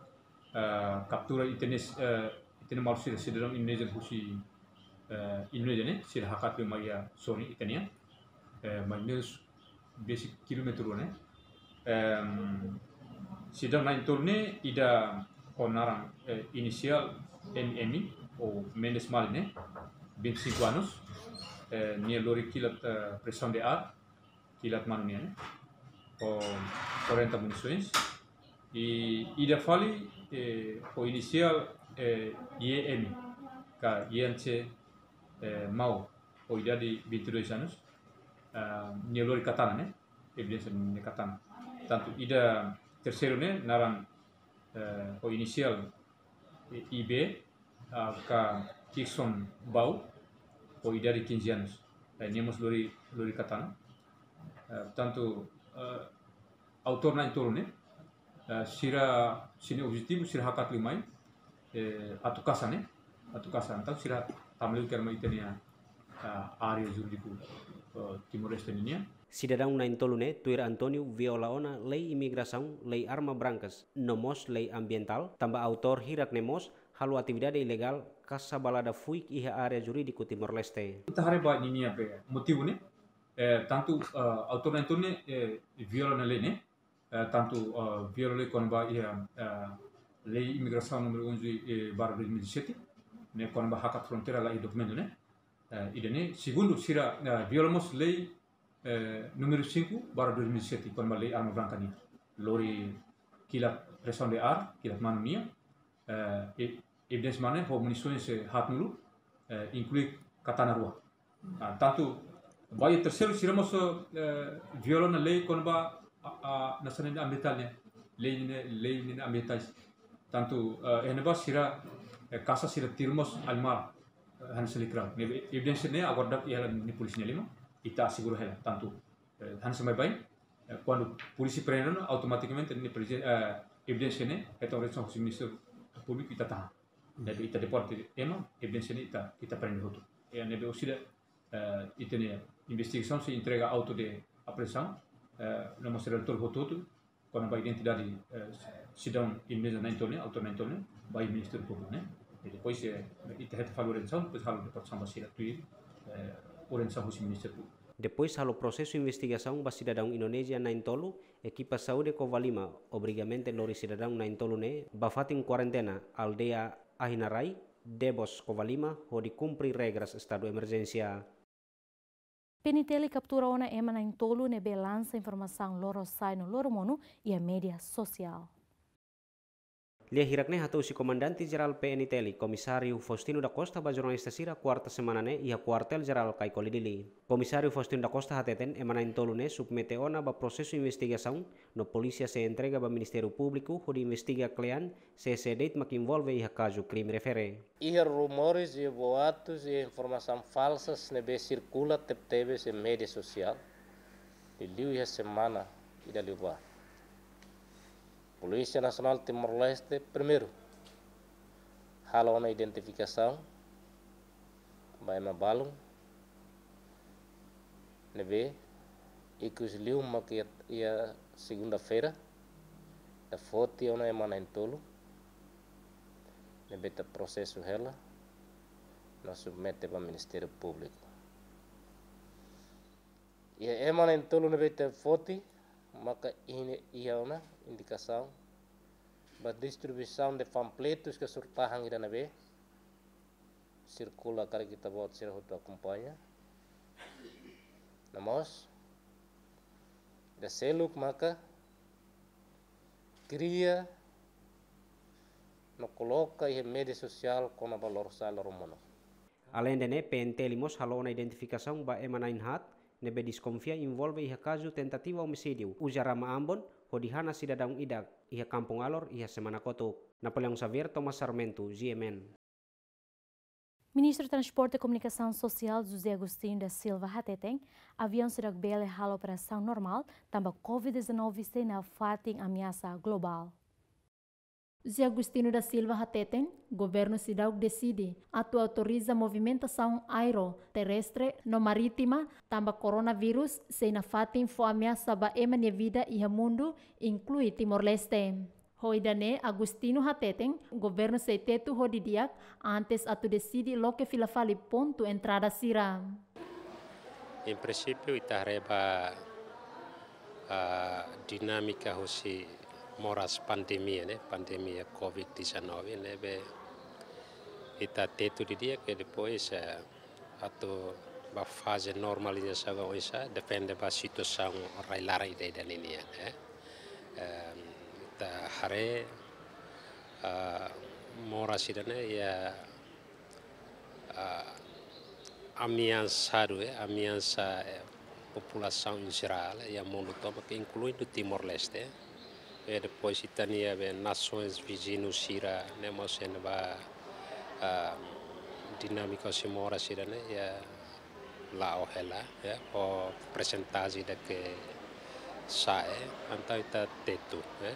Ah, kaptura ita-nia, eh, ita-nia maluk sira sidadaun Indonézia husi, eh, Indonézia ne'e, sira hakat liu mai iha sorin ita-nian. Eh, mais ou menus besik kilómetru ne'e. Ehm, sidadaun na'in-tolu ne'e ida ho naran, eh, inisiál M M ou Mendes Mali ne'e, vinte e cinco anos, eh, nia lori kilat, eh, pressão de ar, kilat manu nian ne'e, ho quarenta munições. I ida fali, eh, ho inisiál, eh, Y M, ka Yance, eh, Mau, ho idade vinte e dois anos, ah, nia lori katana ne'e, evidénsia nia katana. Tantu ida terseiru ne'e, naran, eh, ho inisiál, eh, I B, ah, ka Kirson Bau, ho idade quinze anos. Eh, nia mós lori, lori katana. Eh, tantu, eh, autór na'in-tolu ne'e, Eh, sira, sira-nia objetivu, sira hakat liu mai, eh, atu kasa ne'e, atu kasa, entaun sira tama liu tuir mai ita-nia, eh, área jurídiku, eh, Timor-Leste ninian. Sidadaun na'in-tolu ne'e tuir António viola ona lei imigrasaun, lei arma brankas, no mós lei ambientál, tanba autór hirak ne'e mós halo atividade ilegál kasa balada fuik iha área jurídiku Timor-Leste. Ita haree ba ninia be motivu ne'e, eh, tantu, eh, autór na'in-tolu ne'e, eh, viola ona lei ne'e, eh, tantu, eh, viola lei kona-ba iha, eh, lei imigrasaun númeru onze, eh, barra dois mil e sete, ne'e kona-ba hakat fronteira la iha dokumentu ne'e. Eh, ida-ne'e, segundu, sira, eh, viola mós lei, eh, númeru cinco barra dois mil e sete, kona-ba lei arma branka nian. Lori kilat presaun de ar, kilat manu nian, eh, e-, evidénsia mane, ho munisoens, eh, haatnulu, eh, inklui katana rua. Ah, tantu, ba iha terseiru sira mós, eh, viola ona lei kona-ba, a, a, nasaun ambientál nian. Lei ne'e, lei ne'e ambientais. Tantu, eh, iha ne'ebá sira, eh, kasa sira tiru mós animál, eh, hanesan likrau. Ne'ebé evidénsia ne'e agora daudaun iha hela nia polísia nia liman, ita asegura hela. Tantu, eh, hanesan baibain, eh, kuandu polísia prende ona, automatikamente nia presen-, eh, evidénsia ne'e, hetan orientasaun husi Ministériu Públiku ita tahan. Ne'ebé ita deporte ema, evidénsia ne'e ita, ita prende hotu. Eh, ne'ebé orsida, eh, ita-nia investigasaun sei entrega auto de apreensaun, eh, no mós relatóriu hotu-hotu, kona-ba identidade, eh, sidadaun Indonézia na'in-tolu ne'e, autór na'in-tolu ne'e, ba iha Ministériu Públiku ne'e. I depois, eh, ita hetan fali orientasaun, depois halo deportasaun ba sira tuir, eh, orientasaun husi Ministériu Públiku. Depois halo prosesu investigasaun ba sidadaun Indonézia na'in-tolu, ekipa saúde Covalima obriga mente lori sidadaun na'in-tolu ne'e ba fatin kuarentena, aldeia Ahinarai, Debos, Covalima, hodi kumpre regras estadu emerjénsia. P N T L kaptura ona ema na'in-tolu ne'ebé lansa informasaun lorosa'e no loromonu iha média sosiál. Lia hirak ne'e hato'o husi Komandante Jerál P N T L, Komisáriu Faustino da Costa, ba jornalista sira kuarta semana ne'e iha Kuartél Jerál Caicoli, Dili. Komisáriu Faustino da Costa hateten ema na'in-tolu ne'e submete ona ba prosesu investigasaun no polísia sei entrega ba Ministériu Públiku hodi investiga kle'an se sé de'it mak envolve iha kazu krime refere. Iha rumores, iha boatus, iha informasaun falsas ne'ebé sirkula tebetebes iha média sosiál, liuliu iha semana ida liubá. Polísia Nasionál Timor-Leste, primeiru, halo ona identifikasaun ba ema balun ne'ebé ikus liu mak iha, iha segunda-feira, ita foti ona ema na'in-tolu ne'ebé ita prosesu hela no submete ba Ministériu Públiku. Iha ema na'in-tolu ne'ebé ita foti, maka iha, iha ona indikasaun ba distribuisaun de panfletus ka surat-tahan ida ne'ebé sirkula, karik ita-boot sira hotu akompaña. No mós, ida seluk maka kria no koloka iha média sosiál kona-ba lorosa'e loromonu. Aleinde ne'e, P N T L mós halo ona identifikasaun ba ema na'in-haat ne'ebé deskonfia envolve iha kazu tentativa omisídiu uza rama Ambon hodi hana sidadaun ida iha Kampung Alor iha semana kotuk. Napoleão Xavier, Thomas Sarmento, G M N. Ministru Transporte no Komunikasaun Sosiál José Agostinho da Silva hateten, aviaun seidauk bele halo operasaun normál, tanba Covid dezanove sei nafatin ameasa globál. José Agostinho da Silva hateten, governu seidauk deside atu autoriza movimentasaun aéreu, terrestre no marítima, tanba koronavírus sei nafatin fó ameasa ba ema nia vida iha mundu, inklui Timor-Leste. Ho ida-ne'e, Agostinho hateten, governu sei tetu ho didi'ak antes atu deside loke fila fali pontu entrada sira. Em princípio, ita haree ba, ah, dinámika husi moras pandemia, ne'e, pandemia Covid dezanove, ne'ebé ita tetu didi'ak, ke depois, eh, atu ba faze normalizasaun oinsá, depende ba situasaun rai-laran ida-idak ninian, eh. Em, ita haree, ah, moras ida-ne'e iha, ah, ameasadu, eh, ameasa, eh, populasaun em geral, eh, iha mundu tomak, inkluindo Timor-Leste. E depois ita-nia be nasoens viziñu sira-ne'e mós iha ne'ebá, ah, dinámika husi moras sira-ne'e, iha la'o hela, iha, ho persentajen ida ke sa'e, entaun ita tetu, iha.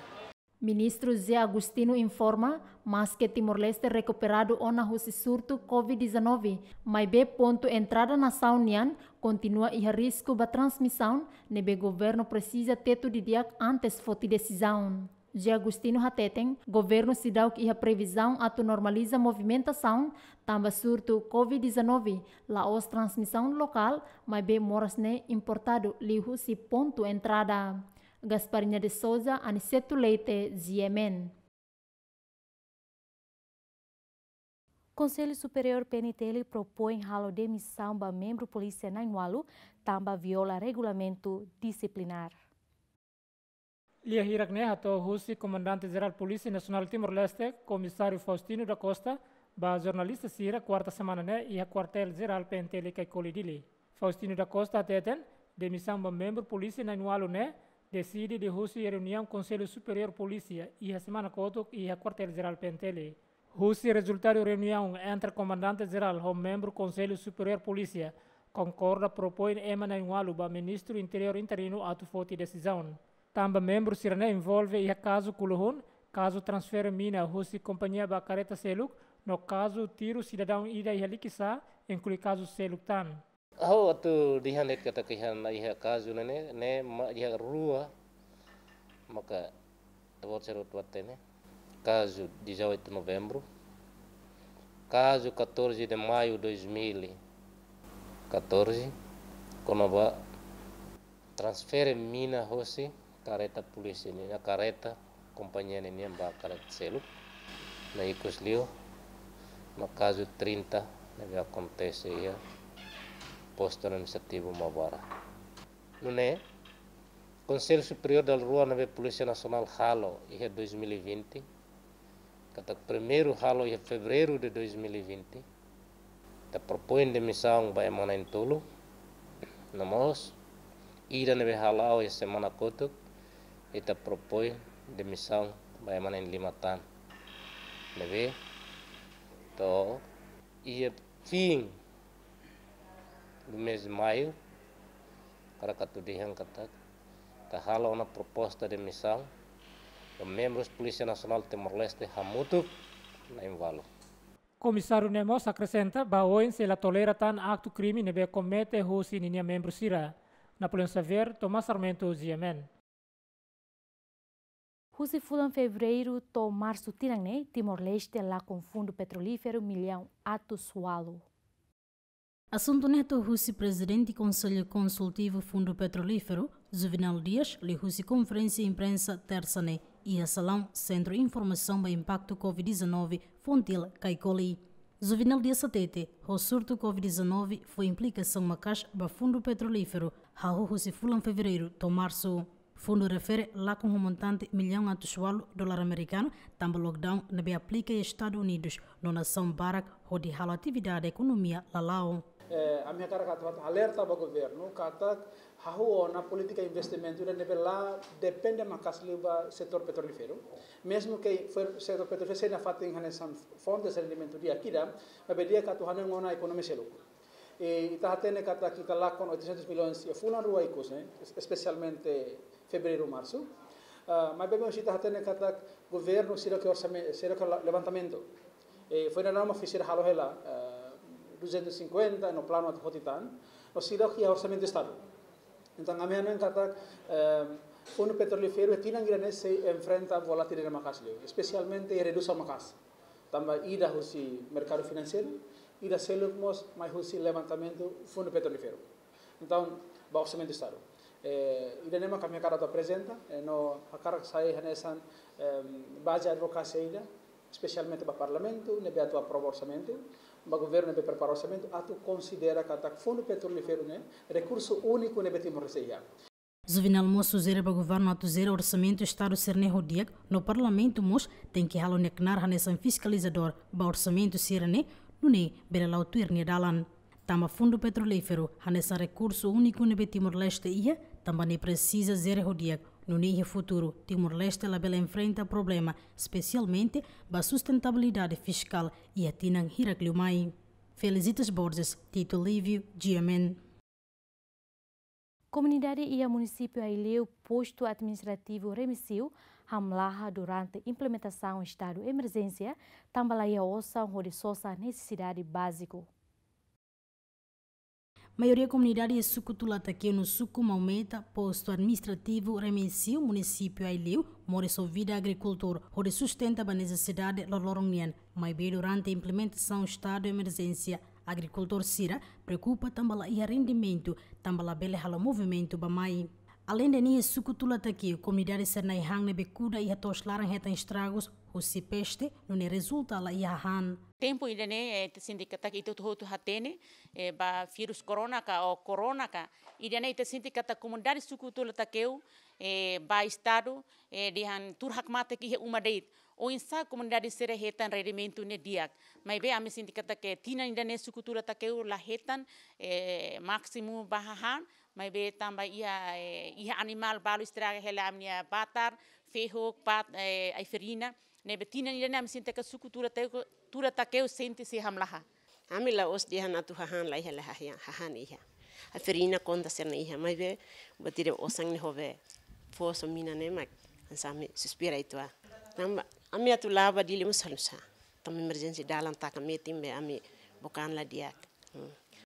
Ministru José Agostinho informa, maske Timor-Leste rekuperadu ona husi surtu COVID dezanove, maibé pontu entrada nasaun nian kontinua iha risku ba transmisaun, ne'ebé governu presiza tetu didi'ak antes foti desizaun. José Agostinho hateten, governu seidauk iha previzaun atu normaliza movimentasaun, tanba surtu COVID dezanove, la'ós transmisaun lokál, maibé moras ne'e importadu liuhusi pontu entrada. Gasparinha de Souza, Aniceto Leite, G M N. Konsellu Superiór P N T L propoin halo demisaun ba membru polísia na'in-ualu, tanba viola regulamentu disiplinár. Lia hirak ne'e hato'o husi Komandante Jerál Polísia Nasionál Timor-Leste, Komisáriu Faustino da Costa, ba jornalista sira kuarta semana ne'e iha Kuartél Jerál P N T L Caicoli, Dili. Faustino da Costa hateten, demisaun ba membru polísia na'in-ualu ne'e deside liuhusi reuniaun Konsellu Superiór Polísia iha semana kotuk iha Kuartél Jerál P N T L. Husi rezultadu reuniaun entre Komandante Jerál ho membru Konsellu Superiór Polísia, konkorda propoin ema na'in-ualu ba Ministru Interiór interinu atu foti desizaun. Tanba membru sira-ne'e envolve iha kazu kuluhun, kazu transfere mina husi kompañia ba karreta seluk, no kazu tiru sidadaun ida iha Likisá, inklui kazu seluk tan. Ha'u atu dehan de'it katak iha, iha kazu ne'e, ne'e, ne'e mak iha rua, maka ita-boot sira hotu hatene. Kazu dezoito de Novembro, kazu catorze de Maio dois mil e catorze, kona-ba transfere mina hosi karreta polísia nian, karreta kompañia nian ba karreta seluk. No ikus liu, no kazu trinta ne'ebé akontese iha Postu Administrativu Maubara. Nune'e, Konsellu Superiór dala rua ne'ebé Polísia Nasionál halo iha dois mil e vinte, katak primeiru halo iha Fevereiru de dois mil e vinte, ita propoin demisaun ba ema na'in-tolu, no mós ida ne'ebé hala'o iha semana kotuk, ita propoin demisaun ba ema na'in-lima tan. Ne'ebé to'o iha fin do mês de maio, hakarak atu dehan katak ita halo ona proposta demisaun ba membrus Polísia Nasionál Timor-Leste hamutuk na'in-ualu. Komisáriu ne'e mós akresenta, ba oin sei la tolera tan aktu krime ne'ebé komete husi ninia membru sira. Napoleão Xavier, Tomás Sarmento, G M N. Husi fulan Fevereiru to'o Marsu tinan ne'e, Timor-Leste lakon fundu petrolíferu millaun atus ualu. Asuntu ne'e hato'o husi Prezidente Konsellu Konsultivu Fundu Petrolíferu, Juvenal Dias, liuhusi konferénsia imprensa Tersa ne'e, iha salaun Sentru Informasaun ba Impaktu COVID dezanove, Fontil, Caicoli. Juvenal Dias hatete, ho surtu COVID dezanove fó implikasaun maka'as ba fundu petrolíferu, hahú husi fulan Fevereiru to'o Marsu. Fundu refere lakon ho montante millaun atus ualu dolar amerikanu, tanba lockdown ne'ebé aplika iha Estadus Unidus no nasaun barak hodi halo atividade ekonomia la la'o. Eh, ami hakarak atu, atu alerta ba governu, katak hahú ona polítika investimentu ida ne'ebé la depende maka'as liu ba setór petrolíferu. Mezmu ke fo-, setór petrolíferu sei nafatin hanesan fontes rendimentu di'ak ida, maibé di'ak atu hanoin ona ekonomia seluk. I ita hatene katak ita lakon oitocentos milhões iha fulan rua ikus ne'e, es-, espesialmente Fevereiru, Marsu. Ah, maibé mós ita hatene katak governu seidauk orsame-, seidauk la-, levantamentu. I foin daudaun mak fó sira halo hela, ah, duzentos e cinquenta, no planu atu foti tan, no seidauk iha orsamentu Estadu. Entaun, ami hanoin katak, ehm, fundu petrolíferu tinan ida-ne'e sei enfrenta volatilidade maka'as liu, espesialmente redusaun maka'as. Tanba ida husi merkadu finanseiru, ida seluk mós mai husi levantamentu fundu petrolíferu. Entaun, ba orsamentu Estadu. Eh, ida-ne'e mak ami hakarak atu aprezenta, eh, no hakarak sai hanesan, ehm, baze advokasia ida, espesialmente ba Parlamentu, ne'ebé atu aprova orsamentu, ba governu ne'ebé prepara orsamentu, atu konsidera katak fundu petrolíferu ne'e rekursu úniku ne'ebé Timor-Leste iha. Juvenal mós sujere ba governu atu jere orsamentu Estadu sira-ne'e ho di'ak, no Parlamentu mós tenke halo nia knaar hanesan fiskalizadór ba orsamentu sira-ne'e, nune'e bele la'o tuir nia dalan. Tanba fundu petrolíferu hanesan rekursu úniku ne'ebé Timor-Leste iha, tanba ne'e presiza jere ho di'ak, nune'e iha futuru Timor-Leste labele enfrenta problema, espesialmente ba sustentabilidade fiskál iha tinan hirak liu mai. Felicitas Borges, Tito Lívio, G M N. Komunidade iha munisípiu Aileu, postu administrativu Remexio, hamlaha durante implementasaun estadu emerjénsia, tanba la iha osan hodi sosa nesesidade báziku. Maioria komunidade iha suku Tula Takeu no suku Maumeta, postu administrativu Remexio, munisípiu Aileu, moris ho vida agrikultór, hodi sustenta ba nesesidade loroloron nian. Maibé durante implementasaun estadu emerjénsia, agrikultór sira preokupa tanba la iha rendimentu, tanba labele halo movimentu ba mai. Aleinde ne'e, suku Tula Takeu, komunidade sira na'in-han ne'ebé kuda iha to'os laran hetan estragus husi peste, nune'e rezulta la iha hahán. Tempu ida-ne'e, eh, ita sente katak ita hotu-hotu hatene, eh, ba vírus corona ka ou corona ka. Ida-ne'e ita sente katak komunidade suku Tula Takeu, eh, ba estadu, eh, dehan tuur hakmatek iha uma de'it. Oinsá komunidade sira hetan rendimentu ne'e di'ak. Maibé ami sente katak tinan ida-ne'e suku Tula Takeu la hetan, eh, másimu ba hahán, maibé tanba iha, eh, iha animál balu estraga hela ami-nia batar, fehuk, pat-, eh, ai-farina. Ne'ebé tinan ida-ne'e ami sente katak suku Tula Takeu, Tula Takeu sente sei hamlaha. Ami la'ós dehan atu hahán la iha, la iha, hahán iha. Ai-farina konta sira-ne'e iha, maibé buat ida osan ne'e hodi fó só mina ne'e mak, hanesan ami suspira uitoan. Tanba ami atu la'o ba Dili mós halo sá. Tanba emerjénsia dalan taka metin be ami book an la di'ak. Hmm.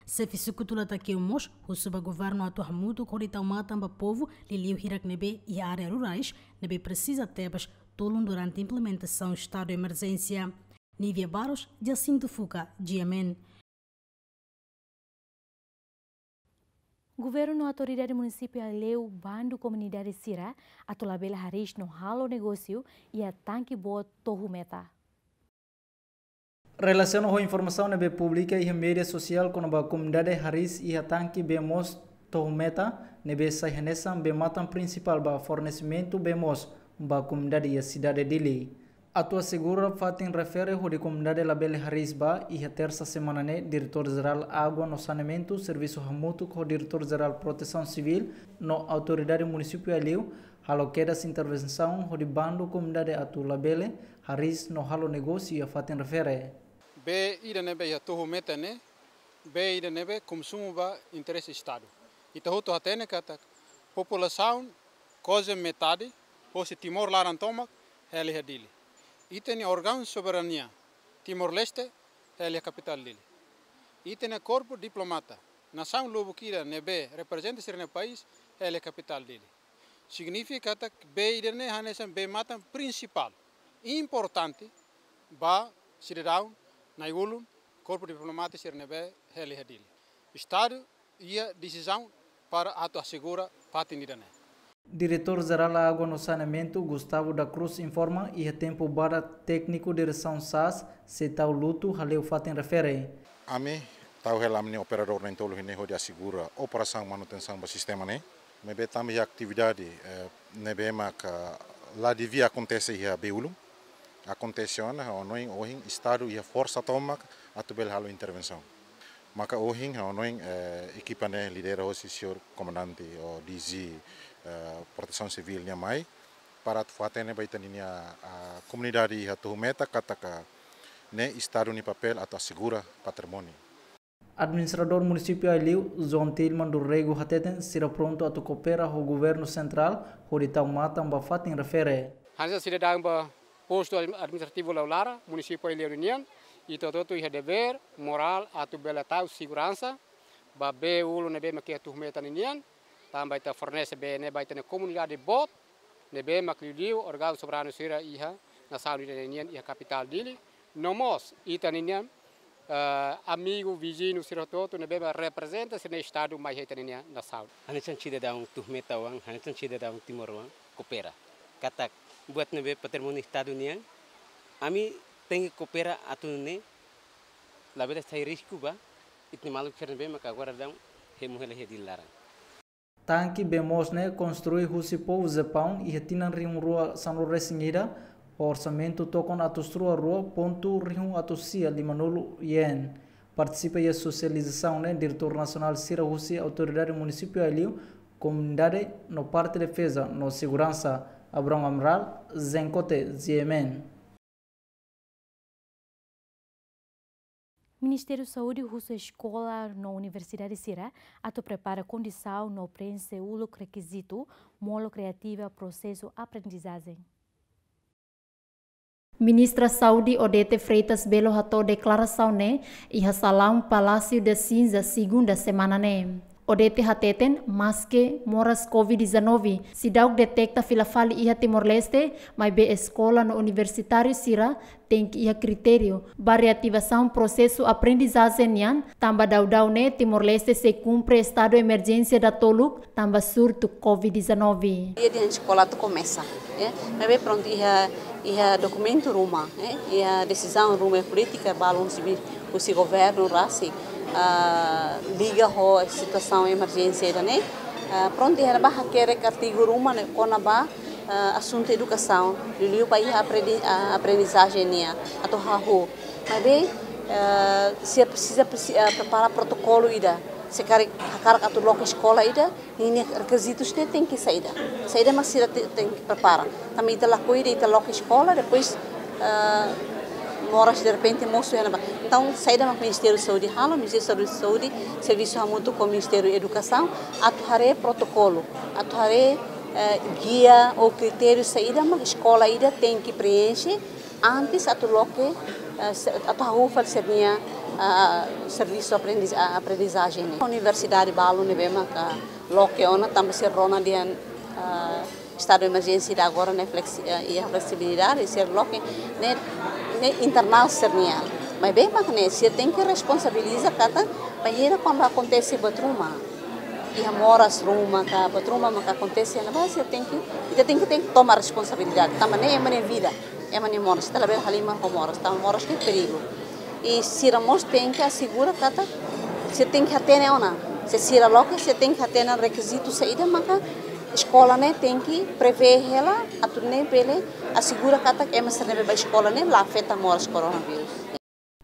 Xefe suku Tula Takeu mós husu ba governu atu hamutuk hodi tau matan ba povu, liuliu hirak ne'ebé iha área rurais, ne'ebé presiza tebes tulun durante implementasaun estadu emerjénsia. Nívia Barros, Jacinto Fuca, G M N. Governu no autoridade munisípiu Aileu bandu komunidade sira atu labele hariis no halo negósiu iha tanki boot Tohu Meta. Relasiona ho informasaun ne'ebé publika iha média sosiál kona-ba komunidade hariis iha tanki bee moos Tohu Meta, ne'ebé sai hanesan bee-matan prinsipál ba fornesimentu bee moos ba komunidade iha sidade Dili. Atu asegura fatin refere hodi komunidade labele hariis ba, iha tersa semana ne'e, Diretór Jerál Água no Saneamentu, servisu hamutuk ho Diretór Jerál Protesaun Sivíl no autoridade munisípiu Aileu, halo kedas intervensaun hodi bandu komunidade atu labele hariis no halo negósiu iha fatin refere. Bee ida ne'ebé iha Tohu Meta ne'e, bee ida ne'ebé konsumu ba interese estadu. Ita hotu hatene katak populasaun kuaze metade hosi Timor laran tomak hela iha Dili. Ita-nia órgaun soberania Timor-Leste hela iha kapitál Dili. Ita-nia korpu diplomata, nasaun lubuk ida ne'ebé reprezenta sira-nia país hela iha kapitál Dili. Signifika katak bee ida-ne'e hanesan bee-matan prinsipál, importante ba sidadaun nai-ulun, korpu diplomata sira ne'ebé hela iha Dili. Estadu iha desizaun para atu asegura fatin ida-ne'e. Diretór Jerál Água no Saneamentu, Gustavo da Cruz, informa iha tempu badak tékniku diresaun SAAS sei tau lutu haleu fatin refere. Ami tau hela ami-nia operadór na'in-tolu ne'e hodi asegura operasaun manutensaun ba sistema ne'e. Maibé tanba iha atividade, eh, ne'ebé maka la devia akontese iha bee-ulun. Akontese ona, ha'u hanoin ohin estadu iha forsa tomak atu bele halo intervensaun. Maka ohin ha'u hanoin, eh, ekipa ne'e lidera hosi señór komandante ou D G, eh, Protesaun Sivíl nian mai, para atu fó hatene ba ita-nia, ah, komunidade iha Tohu Meta katak ne'e estadu nia papél atu asegura patrimóniu. Administradór Munisípiu Aileu, João Tilman do Rego hateten, sira prontu atu koopera ho governu sentrál hodi tau matan ba fatin refere. Hanesan sidadaun ba postu administrativu Laulara, Munisípiu Aileu nian, ita hotu-hotu iha devér morál atu bele tau seguransa ba bee-ulun ne'ebé mak iha Tohu Meta nian, tanba ita fornese bee ne'e ba ita-nia komunidade boot, ne'ebé mak liuliu órgaun soberanu sira iha nasaun ida-ne'e nian iha kapitál Dili. No mós ita-nia, eh, amigu, viziñu sira hotu-hotu ne'ebé mak reprezenta sira-nia estadu mai iha ita-nia nasaun. Hanesan sidadaun Tohu Meta oan, hanesan sidadaun Timor oan, koopera. Katak buat ne'ebé patrimóniu estadu nian, ami tenke koopera atu nune'e labele sai risku ba ita-nia maluk sira ne'ebé maka agora daudaun hemu hela iha Dili laran. Tanki bee moos ne'e konstrui husi povu Japaun iha tinan rihun rua sanulu-resin-ida, ho orsamentu tokon atus rua rua pontu rihun atus sia limanulu yen. Partisipa iha sosializasaun ne'e diretór nasionál sira husi autoridade munisípiu Aileu, komunidade no parte defeza no seguransa. Abrão Amaral, Zenkote, G M N. Ministériu Saúde husu eskola no universidade sira atu prepara kondisaun no preenxe uluk rekizitu molok reativa prosesu aprendizajen. Ministra Saúde Odete Freitas Belo hato'o deklarasaun ne'e iha salaun Palácio da Cinza, segunda semana ne'e. Odete hateten, maske moras covid dezanove seidauk deteta fila fali iha Timor-Leste, maibé eskola no universitáriu sira tenke iha kritériu ba reativasaun prosesu aprendizajen nian, tanba daudaun ne'e Timor-Leste sei kumpre estadu emerjénsia datoluk tanba surtu covid dezanove. Dia de eskola atu komesa, eh? Maibé prontu, iha, iha dokumentu ruma, eh? Iha desizaun ruma, polítika balun sibi husi governu rasik, ah, liga ho situasaun emerjénsia ida-ne'e. Ah, prontu, iha ne'ebá hakerek artigu ruma ne'e kona-ba, ah, asuntu edukasaun, liuliu ba iha aprendi-, ah, aprendizajen nian atu hahú. Maibé, ah, sira presiza, presi-, ah, prepara protokolu ida. Se karik hakarak atu loke eskola ida, ninia rekizitus ne'e tenke saida. Saida mak sira te-, tenke prepara. Tanba ita lakohi ida, ita loke eskola, depois, ah, moras derrepente mosu iha ne'ebá. Entaun, saida mak Ministériu Saúde halo, Ministériu Saúde servisu hamutuk ho Ministériu Edukasaun, atu haree protokolu, atu haree, eh, gia ou kritériu saida mak eskola ida tenke preenxe antes atu loke, eh, se-, atu hahú fali sira-nia, ah, servisu aprendiz-, ah, aprendizajen ne'e. Universidade balun ne'ebé maka loke ona tanba sira rona dehan, ah, estadu emerjénsia ida agora ne'e flexi-, eh, iha fleksibilidade, sira loke ne'e, ne'e internál sira-nian. Maibé mak ne'e, sira tenke responsabiliza katak bainhira kuandu akontese buat ruma, iha moras ruma ka buat ruma maka akontese iha ne'ebá, sira tenke, ita tenke, tenke toma responsabilidade. Tanba ne'e ema nia vida, ema nia moras, ita labele halimar ho moras, tanba moras ne'e perigu. I sira mós tenke asegura katak sira tenke hatene ona. Se sira loke, sira tenke hatene rekizitu saida maka eskola ne'e tenke prevee hela, atu nune'e bele asegura katak ema sira ne'ebé bá eskola ne'e la afeta moras koronavírus.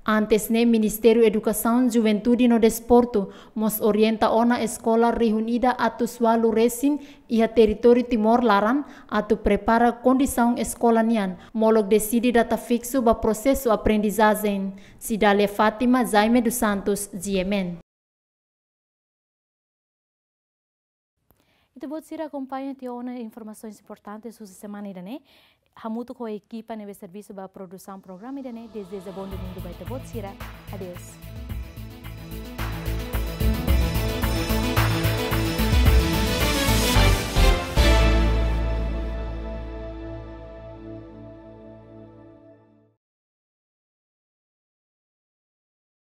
Antes ne'e, Ministériu Edukasaun, Juventude no Desportu mós orienta ona eskola rihun ida atus ualu resin iha territóriu Timor laran atu prepara kondisaun eskola nian, molok deside data fiksu ba prosesu aprendizajen. Cidália Fátima, Jaime dos Santos, G M N. Ita-boot sira akompaña tiha ona informasaun importante husi semana ida-ne'e. Hamutuk ho ekipa ne'ebé servisu ba produsaun programa ida-ne'e, dezeja bom domingo ba ita-boot sira. Adeus.